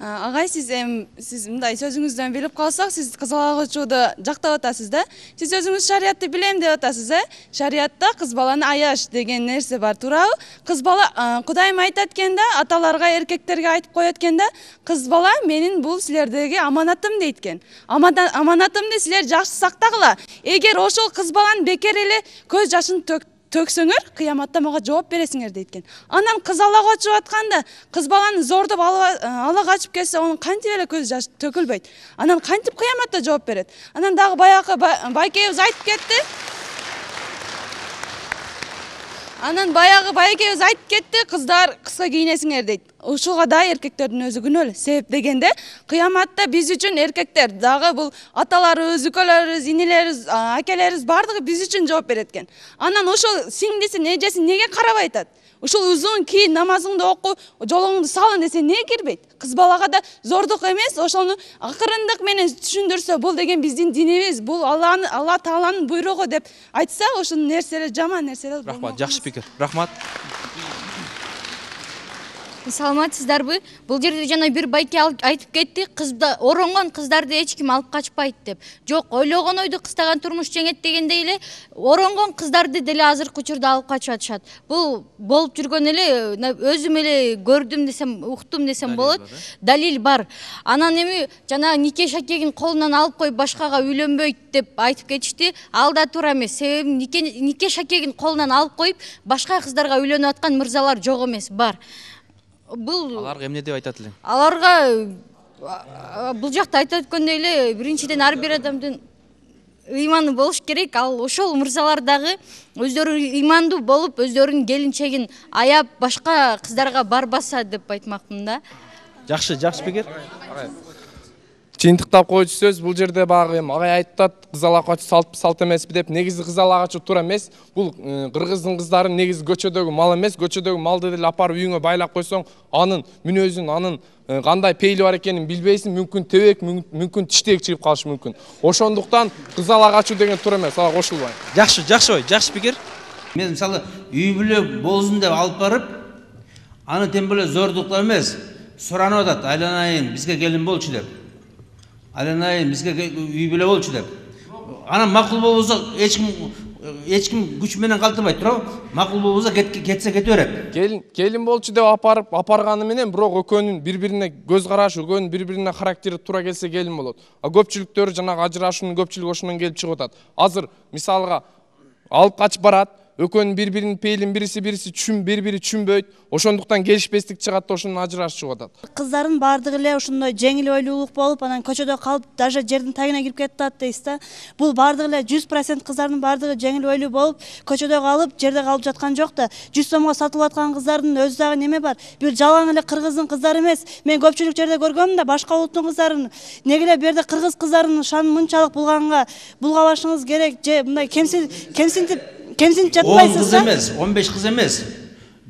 Агай, сиз эми сиз мындай сөзүңүздөн билип калсак, сиз кыз бала качууду жактап атасыз да. Сиз өзүңүз шариятты билем деп атасыз, э? Шариятта кыз баланы аяш деген нерсе бар, туурабы? Кыз бала Кудайым айтат экен да, аталарга, эркектерге айтып коет экен да, кыз бала менин бул силердеги аманатым дейт экен. Аманатымды силер жакшы сактагыла. Эгер ошол кыз баланын бекер эле көз жашын төк төксөңөр, кыяматта мага жооп бересиңер дейт экен. Анан кыз ала качып атканда, кыз баланы зордоп ала качып кетсе, анын кантип эле көз жаш төкүлбөйт. Анан кантип кыяматта жооп берет? Анан дагы баягы байкебиз айтып кетти. Анан баягы байкебиз айтып кетти, кыздар кыска кийинесиңер дейт. Ушуга да эркектердин өзү күнөөлүү. Себеп дегенде, кыяматта биз үчүн эркектер, дагы бул аталарыбыз, үкөлөрүбүз, инилерибиз, акелерибиз бардыгы биз үчүн жооп берет экен. Анан ошол сиңдиси, эжеси неге карабай атат? Ушул узун кийин, намазыңды оку, жолуңду салын десе не кирбейт? Кыз балага да зордук эмес, ошону акырындык менен түшүндүрсө, бул деген биздин динибиз, бул Алланын, Алла Тааланын буйругу деп айтса, ошол нерселер жаман нерселер. Рахмат, жакшы пикир. Рахмат. Саламатсыздарбы? Бул жерде жана бир байке айтып кетти, кызда оронгон кыздарды эч ким алып качпайт деп. Жок, ойлогон ойду кыстаган турмуш жеңет дегендей эле, оронгон кыздарды деле азыркы учурда алып качып атышат. Бул болуп жүргөн эле, өзүм эле көрдүм десем, уктум десем болот. Далил бар. Анан эми жана нике шакегин колунан алып коюп башкага үйлөнбөйт деп айтып кетишти. Ал да туура эмес. Себеби нике нике шакегин колунан алып коюп башка кыздарга үйлөнүп аткан мырзалар жок эмес, бар. Бул аларга эмне деп айтат элең? Аларга бул жакта айтып өткөндөй эле, биринчиден ар бир адамдын ыйманы болуш керек. Ал ошол мырзалар дагы өздөрү ыймандуу болуп, өздөрүнүн келинчегин аяп башка кыздарга барбаса деп айтмакмын да. Жакшы, жакшы пикир. Чыйынтыктап койчу сөз, бул жерде багы эми агай айтат, кыз ала качуу салт салт эмеспи деп. Негизи кыз ала качуу туура эмес. Бул кыргыздын кыздары негизи көчөдөгү мал эмес. Көчөдөгү малды деле апарып үйүңө байлап койсоң, анын мүнөзүн, анын кандай пейли бар экенин билбейсиң, мүмкүн тебек, мүмкүн тиштек чыгып калышы мүмкүн. Ошондуктан кыз ала качуу деген туура эмес, ага кошулбайм. Жакшы, жакшы ой, жакшы пикир. Мен мисалы үй бүлө болсун деп алып барып, аны тем более зордуктап эмес, суранып атат, айланайын, бизге келин болчу деп. Айланайын, бизге үй бүлө болчу деп. Анан макул болбосо эч ким эч ким күч менен калтырбайт, туурабы? Макул болбосо кетсе кете берет. Келин келин болчу деп апарып апарганы менен бирок экөөнүн бири-бирине көз карашы, экөөнүн бири-бирине характери туура келсе келин болот. А көпчүлүктөрү жанагы ажырашуунун көпчүлүгү ошондон келип чыгып атат. Азыр мисалга алып качып барат, экөөнүн бири-биринин пейлин бириси бириси түшүн, бири-бири түшүнбөйт. Ошондуктан келишпестик чыгат да ошондон ажырашып чыгып атат. Кыздардын баардыгы эле ошондой жеңил ойлуулук болуп, анан көчөдө калып, даже жердин тагына кирип кетип атат дейсиз да. Бул баардыгы эле жүз процент кыздардын баардыгы жеңил ойлуу болуп, көчөдө калып, жерде калып жаткан жок да. жүз сомго сатылып аткан кыздардын өзү дагы неме бар? Бир жалаң эле кыргыздын кыздары эмес. Мен көпчүлүк жерде көргөм да, башка улуттун кыздарын, неге эле бу жерде кыргыз кыздарынын шанын мынчалык булганга булгабашыңыз керек, же мындай кемсин кемсинтип кемсинтип жатпайсыз да? он кыз эмес, он беш кыз эмес.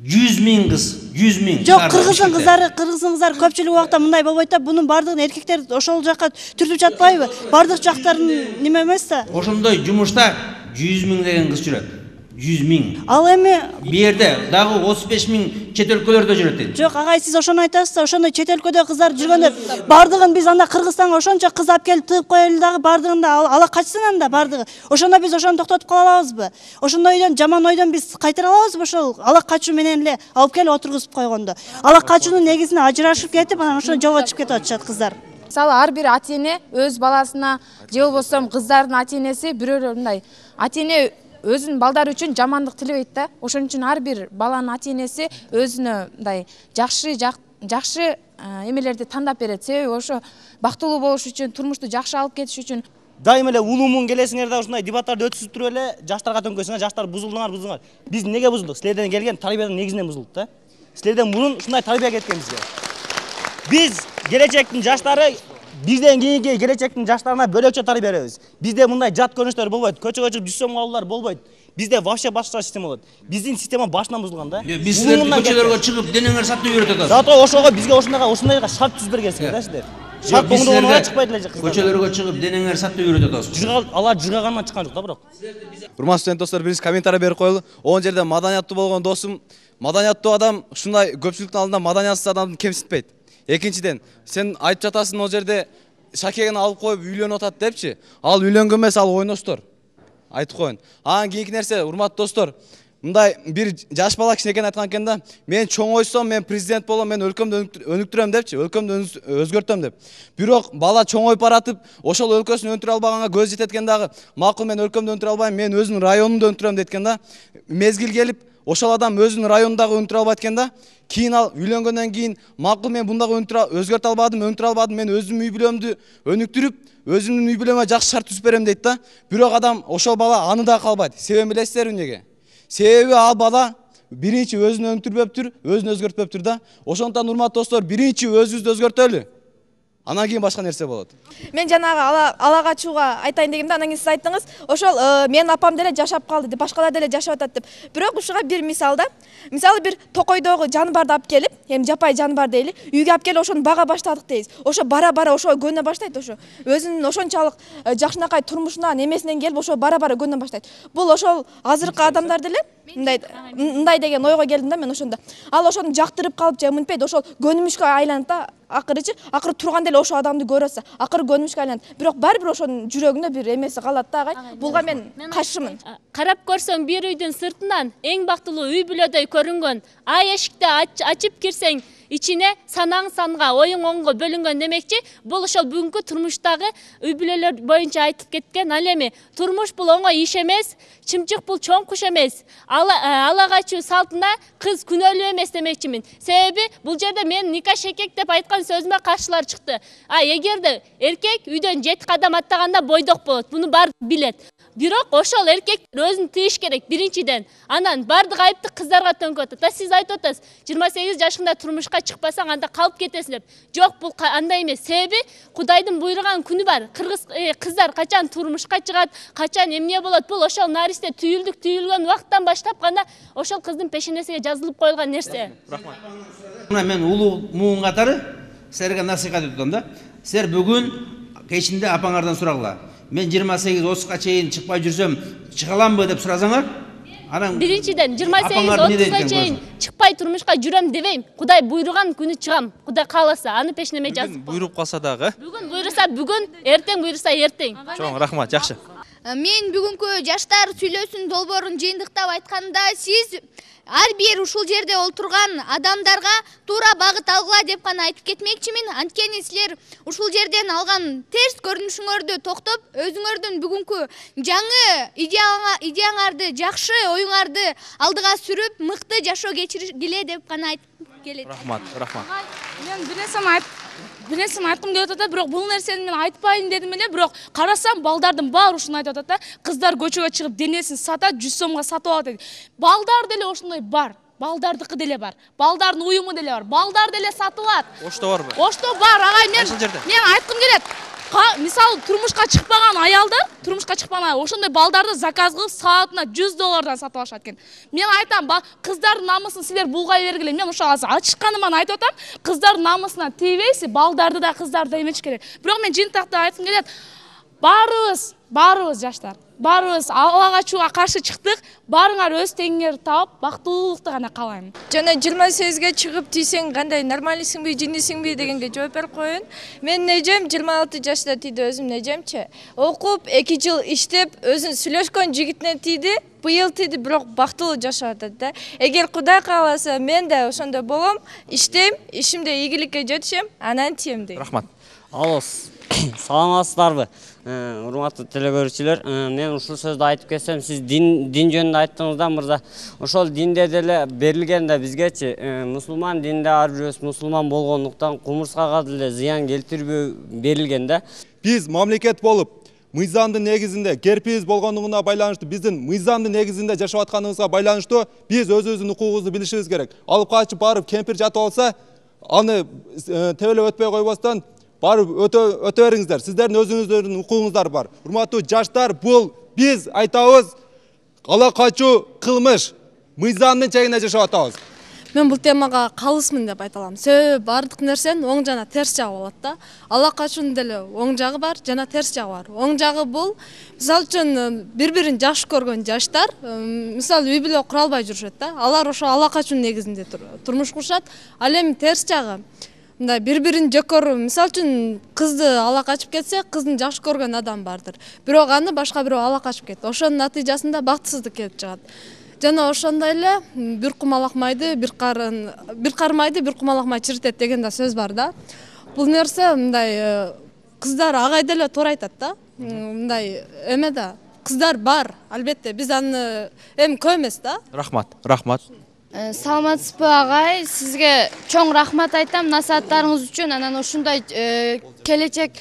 жүз миң кыз, жүз миң. Жок, кыргыздын кыздары, кыргыздын кыздары көпчүлүк убакта мындай болбойт да. Бунун баардыгын эркектер ошол жакка түртүп жатпайбы? Баардык жактарын неме эмес да. Ошондой жумушта жүз миң деген кыз жүрөт. жүз миң. Ал эми бу жерде дагы отуз беш миң чет өлкөлөрдө жүрөт дейт. Жок, агай, сиз ошону айтасыз да, ошондой чет өлкөдө кыздар жүргөндө баардыгын биз анда Кыргызстанга ошончо кыз алып келип тыгып коелу дагы, баардыгын да ала качсын анда баардыгы. Ошондо биз ошону токтотуп кала алабызбы? Ошондой ойдон, жаман ойдон биз кайтара алабызбы ошол ала качуу менен эле алып келип отургузуп койгондо? Ала качуунун негизинде ажырашып кетип, анан ошондо жолго чыгып кетип атышат кыздар. Мисалы ар бир ата эне өз баласына же болбосо кыздардын ата энеси бирөө мындай ата эне өзүнүн балдары үчүн жамандык тилебейт да. Ошон үчүн ар бир баланын ата энеси өзүнө мындай жакшы жакшы эмелерди тандап берет. Себеби ошо бактылуу болуш үчүн, турмушту жакшы алып кетиш үчүн. Дайым эле улуумун келесиңер да ушундай дебаттарды өткүзүп туруп эле жаштарга төңкөсүңөр, жаштар бузулдуңар, бузулдуңар. Биз неге бузулдук? Силерден келген тарбиянын негизинен бузулдук да. Силерден мурун ушундай тарбия кеткен бизге. Биз келечектин жаштары бизден кийинки келечектин жаштарына бөлөкчө тарбия беребиз. Бизде мындай жат көрүнүштөр болбойт, көчөгө чыгып жүз сомго алуулар болбойт. Бизде вообще башка система болот. Биздин система башынан бузулган да. Биз силерди көчөлөргө чыгып денеңер сатып үйрөтөт атасыз. Зато ошого бизге ошондайга ошондайга шарт түзүп бергенсиңер да силер. Шарт болгондон чыкпайт эле кыздар. Көчөлөргө чыгып денеңер сатып үйрөтөт атасыз. Алар жыргагандан чыккан жок да бирок. Урматтуу студент достор, биринчи комментарий берип коелу. Он жерде маданияттуу болгон досум, маданияттуу адам ушундай көпчүлүктүн алдында маданиятсыз адамды кемсинтпейт. Экинчиден, сен айтып жатасың ол жерде шакегин алып коюп үйлөнүп атат депчи. Ал үйлөнгөн эмес, ал ойноштор. Айтып коеюн. Анан кийинки нерсе, урматтуу достор, мындай бир жаш бала кичинекей айткан экен да, мен чоңойсом, мен президент болом, мен өлкөмдү өнүктүрөм депчи, өлкөмдү өзгөртөм деп. Бирок бала чоңоюп баратып, ошол өлкөсүн өнүктүрө албаганга көз жетет экен дагы, макул мен өлкөмдү өнүктүрө албайм, мен өзүнүн районумду өнүктүрөм дейт экен да. Мезгил келип, ошол адам өзүнүн районундагы өнүктүрө албайт экен да. Кийин ал үйлөнгөндөн кийин, макул мен бундагы өзгөртө албадым, өнүктүрө албадым, мен өзүмдүн үй бүлөмдү өнүктүрүп, өзүмдүн үй бүлөмө жакшы шарт түзүп берем дейт да. Бирок адам ошол бала аны да калбайт. Себебин билесиздерби эмнеге? Себеби ал бала биринчи өзүн өнүктүрбөптүр, өзүн өзгөртпөптүр да. Ошондуктан урматтуу достор, биринчи өзүбүздү өзгөртөлү. Анан кийин башка нерсе болот. Мен жанагы ала ала качууга айтайын дегенде, анан кийин сиз айттыңыз, ошол менин апам деле жашап калды деп, башкалар деле жашап атат деп. Бирок ушуга бир мисал да. Мисалы бир токойдогу жаныбарды алып келип, эми жапай жаныбар дейли, үйгө алып келип ошону бага баштадык дейбиз. Ошо бара-бара ошого көнө баштайт ошо. Өзүнүн ошончолук жакшынакай турмушунан, эмесинен келип ошо бара-бара көнө баштайт. Бул ошол азыркы адамдар деле мындай мындай деген ойго келдим да мен ошондо. Ал ошону жактырып калып же мынтпейт, ошол көнүмүшкө айланат да. Акырычы, акыры турган деле ошол адамды көрөсө, акыры көнүмүшкө айланат. Бирок баары бир ошонун жүрөгүндө бир эмеси калат да, агай. Булга мен каршымын. Карап көрсөң бир үйдүн сыртынан эң бактылуу үй бүлөдөй көрүнгөн ай эшикти ачып кирсең, ичине санаң санга, оюң оңго бөлүнгөн демекчи, бул ошол бүгүнкү турмуштагы үй бүлөлөр боюнча айтып кеткен. Ал эми турмуш бул оңой иш эмес, чымчык бул чоң куш эмес. Ала качуу салтына кыз күнөөлүү эмес демекчимин. Себеби бул жерде мен ника шекек деп айткан сөзүмө каршылар чыкты. А эгерде эркек үйдөн жети кадам аттаганда бойдок болот, буну баары билет. Бирок ошол эркек өзүн тыйыш керек биринчиден. Анан бардык айыпты кыздарга төнкөп атат. Та сиз айтып атасыз, жыйырма сегиз жашыңда турмушка чыкпасаң анда калып кетесиң деп. Жок, бул андай эмес. Себеби Кудайдын буйруган күнү бар. Кыргыз кыздар качан турмушка чыгат, качан эмне болот, бул ошол наристе түйүлдүк түйүлгөн убакыттан баштап гана ошол кыздын пешенесине жазылып коюлган нерсе. Рахмат. Мына мен улуу муун катары силерге насихат этип атам да. Силер бүгүн кечинде апаңардан сурагыла. Мен жыйырма сегиз отузга чейин чыкпай жүрсөм, чыга аламбы деп сурасаңар? Анан биринчиден жыйырма сегиз отузга чейин чыкпай турмушка жүрөм дебейм. Кудай буйруган күнү чыгам. Кудай кааласа, аны пешенеме жазып. Буйруп калса дагы. Бүгүн буйруса бүгүн, эртең буйруса эртең. Чоң рахмат, жакшы. Мен бүгүнкү жаштар сүйлөсүн долбоорун жыйынтыктап айтканда, сиз ар бир ушул жерде олтурган адамдарга туура багыт алгыла деп гана айтып кетмекчимин. Анткени силер ушул жерден алган терс көрүнүшүңөрдү токтоп, өзүңөрдүн бүгүнкү жаңы идеяңарды, жакшы оюңарды алдыга сүрүп, мыкты жашоо кечиргиле деп гана айтып келет. Рахмат, рахмат. Мен бир нерсени айтып бир нерсени айткым келип атат, бирок бул нерсени мен айтпайын дедим эле, бирок карасам балдардын баары ушуну айтып атат да. Кыздар көчөгө чыгып денесин сатат, жүз сомго сатып алат дейт. Балдар деле ошондой бар. Балдардыкы деле бар. Балдардын уюму деле бар. Балдар деле сатылат. Ошто барбы? Ошто бар, агай. Мен мен айткым келет. Мисалы турмушка чыкпаган аялдар, турмушка чыкпаган ошондой балдарды заказ кылып саатына жүз доллардан сатып алышат экен. Мен айтам, кыздардын намысын силер булгай бергиле. Мен ошо азыр ачышканыман айтып атам, кыздардын намысына тийбейсиз, балдарды да кыздарды да эметиш керек. Бирок мен жыйынтыкта айткым келет, баарыбыз, баарыбыз жаштар, баарыбыз ала качууга каршы чыктык. Баарыңар өз теңиңерди таап, бактылуулукту гана каалайм. Жана жыйырма сегизге чыгып тийсең кандай нормалисиңби, жинисиңби дегенге жооп берип коеюн. Менин эжем жыйырма алты жашта тийди, өзүмдүн эжемчи. Окуп эки жыл иштеп, өзүн сүйлөшкөн жигитине тийди. Быйыл тийди, бирок бактылуу жашап атат да. Эгер Кудай кааласа, мен да ошондой болом, иштейм, ишимде ийгиликке жетишем, анан тием дейм. Рахмат. Алло, саламатсыздарбы? Урматтуу телекөрүүчүлөр, мен ушул сөздү айтып кетсем, сиз дин дин жөнүндө айттыңыз да, мырза. Ошол динде деле берилген да бизгечи, мусулман динде ар бирөөбүз мусулман болгондуктан кумурскага деле зыян келтирбөө берилген да. Биз мамлекет болуп, мыйзамдын негизинде, керпиз болгондугуна байланыштуу, биздин мыйзамдын негизинде жашап атканыбызга байланыштуу биз өзүбүздүн укугубузду билишибиз керек. Алып качып барып кемпир жатып алса, аны тебелеп өтпөй койбостон барып өтө бериңиздер. Сиздердин өзүңүздөрдүн укугуңуздар бар. Урматтуу жаштар, бул биз айтабыз, ала качуу кылмыш. Мыйзамдын чегинде жашап атабыз. Мен бул темага калысмын деп айта алам. Себеби бардык нерсенин оң жана терс жагы болот да. Ала качуунун деле оң жагы бар, жана терс жагы бар. Оң жагы бул, мисалы үчүн бири-бирин жакшы көргөн жаштар, мисалы үй бүлө кура албай жүрүшөт да. Алар ошо ала качуунун негизинде турмуш курушат. Ал эми терс жагы, мындай бири-бирин жек көрүү. Мисалы үчүн кызды ала качып кетсе, кыздын жакшы көргөн адам бардыр. Бирок аны башка бирөө ала качып кетти. Ошонун натыйжасында бактысыздык келип чыгат. Жана ошондой эле бир кумалак майды, бир карын, бир кар майды бир кумалак май чиритет деген да сөз бар да. Бул нерсе мындай кыздар ага деле туура айтат да. Мындай эме да, кыздар бар, албетте. Биз аны эми көп эмес да. Рахмат, рахмат. Саламатсызбы агай, сизге чоң рахмат айтам насааттарыңыз үчүн. Анан ушундай келечек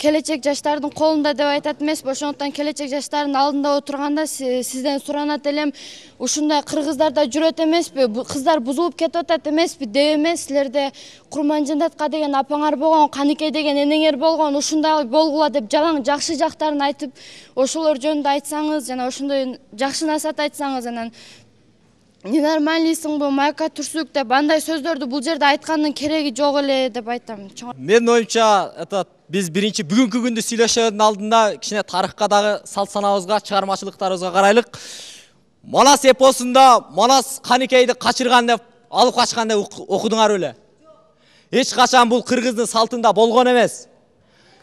келечек жаштардын колунда деп айтат эмес, ошондуктан келечек жаштардын алдында отурганда сизден суранат элем, ушундай кыргыздарда жүрөт эмеспи, кыздар бузулуп кетип атат эмеспи деп эмес, силерде Курманжандатка деген апаңар болгон, Каникей деген энеңер болгон, ушундай болгула деп жалаң жакшы жактарын айтып, ошолор жөнүндө айтсаңыз, жана ошондой жакшы насаат айтсаңыз, анан ненормальныйсың бу, майка түрсүк деп андай сөздөрдү бул жерде айткандын кереги жок эле деп айтам. Менин оюмча, этот биз биринчи бүгүнкү күндү сүйлөшөдүн алдында кичине тарыхка дагы салт санабызга, чыгармачылыктарыбызга карайлык. Манас эпосунда Манас Каникейди качырган деп алып качкан деп окудуңар беле? Эч качан бул кыргыздын салтында болгон эмес.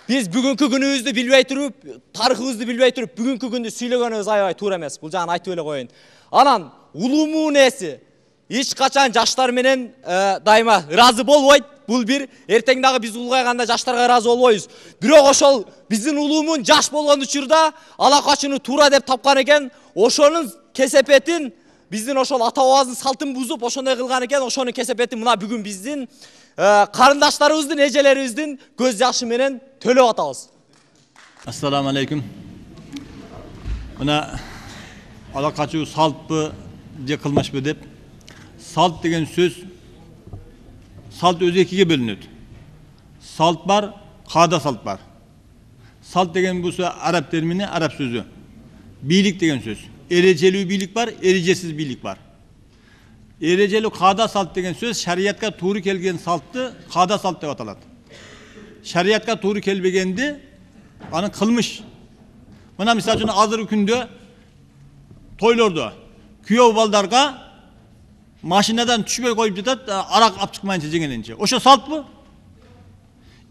Биз бүгүнкү күнүбүздү билбей туруп, тарыхыбызды билбей туруп, бүгүнкү күндү сүйлөгөнүбүз аябай туура эмес. Бул жагын айтып эле коеюн. Анан улуу нээси эч качан жаштар менен дайыма ыраазы болбойт. Бул бир, эртең дагы биз улгайганда жаштарга ыраазы болбойбуз. Бирок ошол биздин улуумун жаш болгон учурда ала качууну туура деп тапкан экен. Ошонун кесепетин биздин ошол ата бабабыздын салтын бузуп ошондой кылган экен. Ошонун кесепетин мына бүгүн биздин карындаштарыбыздын, эжелерибиздин көз жашы менен төлөп атабыз. Ассаламу алейкум. Мына ала качуу салтпы же кылмышпы деп, салт деген сөз, салт өзү экиге бөлүнөт. Салт бар, каада салт бар. Салт деген бул араб термини, араб сөзү. Бийлик деген сөз. Эрежелүү бийлик бар, эрежесиз бийлик бар. Эрежелүү каада салт деген сөз шариятка туура келген салтты каада салт деп аталат. Шариятка туура келбегенди аны кылмыш. Мына мисалы үчүн азыркы күндө тойлордо күйөө балдарга машинадан түшпөй коюп жатат, арак алып чыкмайынча жеңенинче. Ошо салтпы?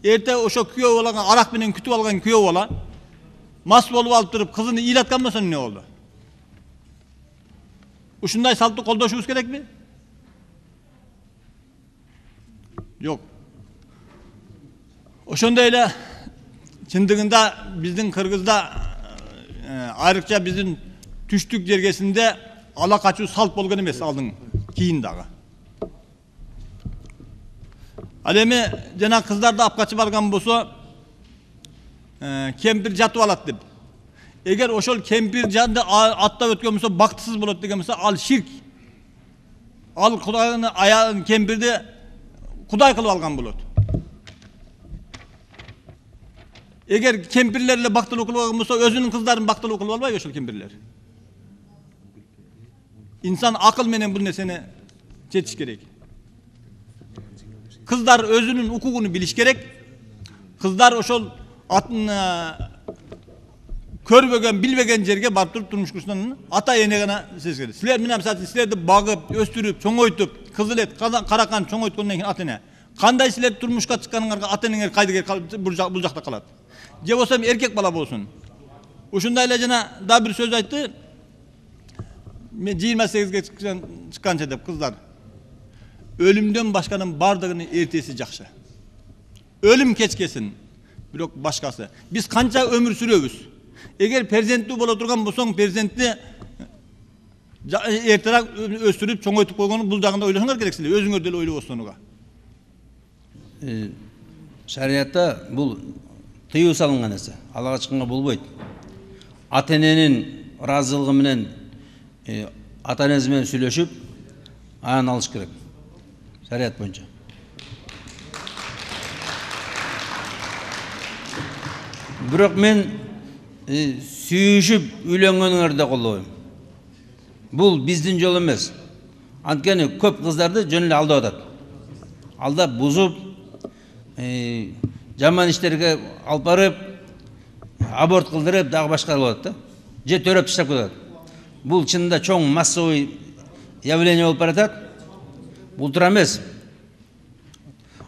Эрте ошо күйөө балага арак менен күтүп алган күйөө бала мас болуп алып туруп кызын ыйлаткан болсо эмне болду? Ушундай салтты колдошубуз керекпи? Жок. Ошондой эле чындыгында биздин Кыргызда айрыкча биздин түштүк жергесинде ала качуу салт болгон эмес, алдын кийин дагы. Ал эми жана кыздарды алып качып алган болсо, кемпир жатып алат деп. Эгер ошол кемпир жанды аттап өткөн болсо бактысыз болот деген болсо, ал ширк. Ал Кудайдын аялын, кемпирди Кудай кылып алган болот. Эгер кемпирлер эле бактылуу кылып алган болсо, өзүнүн кыздарын бактылуу кылып албайбы ошол кемпирлер? İnsan akıl менен бул нерсени чечиш керек. Кыздар өзүнүн укугун билиш керек. Кыздар ошол атын көрбөгөн, билбеген жерге барып туруп турмуш курушунан ата эне гана сезиш керек. Силер менен мисалы силерди багып, өстүрүп, чоңойтуп, кызыл эт, каракан чоңойткондон кийин ата эне. Кандай силер турмушка чыкканыңарга ата энеңер кайда бул жакта калат? Же болсо эркек бала болсун. Ушундай эле жана да бир сөз айтты. Мен жыйырма сегизге чыкканча деп кыздар. Өлүмдөн башканын бардыгынын эртеси жакшы. Өлүм кечкесин, бирок башкасы. Биз канча өмүр сүрөбүз? Эгер перзенттүү боло турган болсоң, перзентти эртерээк өстүрүп, чоңойтуп койгону бул жагында ойлошоңор керек силер, өзүңөр деле ойлобосоңуга. Шариятта бул тыюу салынган нерсе. Алга чыкканга болбойт. Ата эненин ыраазылыгы менен ата энеси менен сүйлөшүп, анан алыш керек. Шарият боюнча. Бирок мен сүйүшүп үйлөнгөнүңөрдү колдобойм. Бул биздин жол эмес. Анткени көп кыздарды жөн эле алдап атат. Алдап, бузуп, жаман иштерге алып барып, аборт кылдырып, дагы башка кылып атат да. Же төрөп таштап кетет. Бул чынында чоң массовый явление болуп баратат. Бул туура эмес.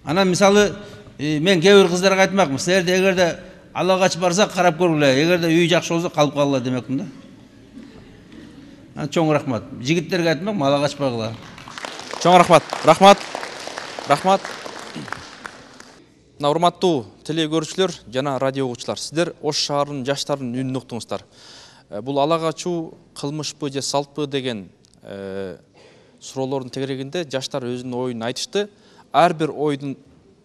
Анан мисалы мен кээ бир кыздарга айтмакмын, силерде эгерде ала качып барса карап көргүлө, эгерде үй жакшы болсо калып калгыла демекмин да. Чоң рахмат. Жигиттерге айтмакмын, ала качпагыла. Чоң рахмат. Рахмат. Рахмат. Мына урматтуу телегөрүүчүлөр жана радио угуучулар, сиздер Ош шаарынын жаштарынын үнүн уктуңуздар. Бул ала качуу кылмышпы же салтпы деген суроолордун тегерегинде жаштар өзүнүн оюн айтышты. Ар бир ойдун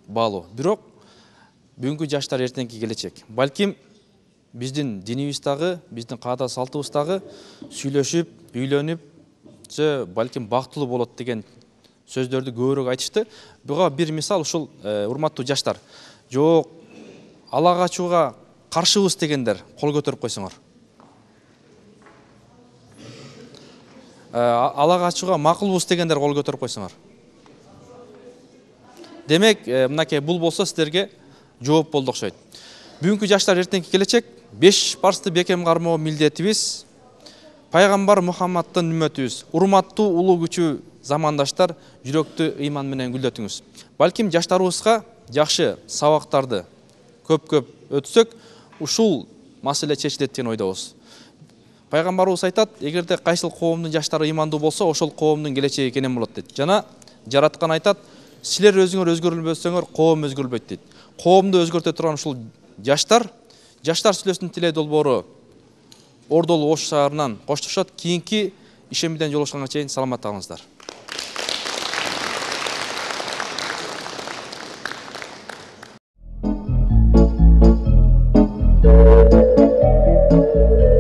баалуу. Бирок бүгүнкү жаштар эртеңки келечек. Балким биздин динибиздагы, биздин каада салтыбыздагы сүйлөшүп, үйлөнүп, же балким бактылуу болот деген сөздөрдү көбүрөөк айтышты. Буга бир мисал ушул урматтуу жаштар. Жок, ала качууга каршыбыз дегендер кол көтөрүп койсоңор. Ала качууга макулбуз дегендер кол көтөрүп койсоңор. Демек, мынакей бул болсо сиздерге жооп болду окшойт. Бүгүнкү жаштар эртеңки келечек. Беш парсты бекем кармоо милдетибиз. Пайгамбар Мухаммадтын үммөтүбүз. Урматтуу улуу күчүү замандаштар, жүрөктү ыйман менен гүлдөтүңүз. Балким жаштарыбызга жакшы сабактарды көп-көп өтсөк, ушул маселе чечилет деген ойдобуз. Пайгамбарыбыз айтат, эгерде кайсыл коомдун жаштары ыймандуу болсо, ошол коомдун келечеги кенен болот дейт. Жана жараткан айтат, силер өзүңөр өзгөрүлбөсөңөр, коом өзгөрүлбөйт дейт. Коомду өзгөртө турган ушул жаштар, жаштар сүйлөсүнүн тиле долбоору Ордолу Ош шаарынан коштошот. Кийинки ишембиден жолугушканга чейин саламатта калыңыздар. Thank you.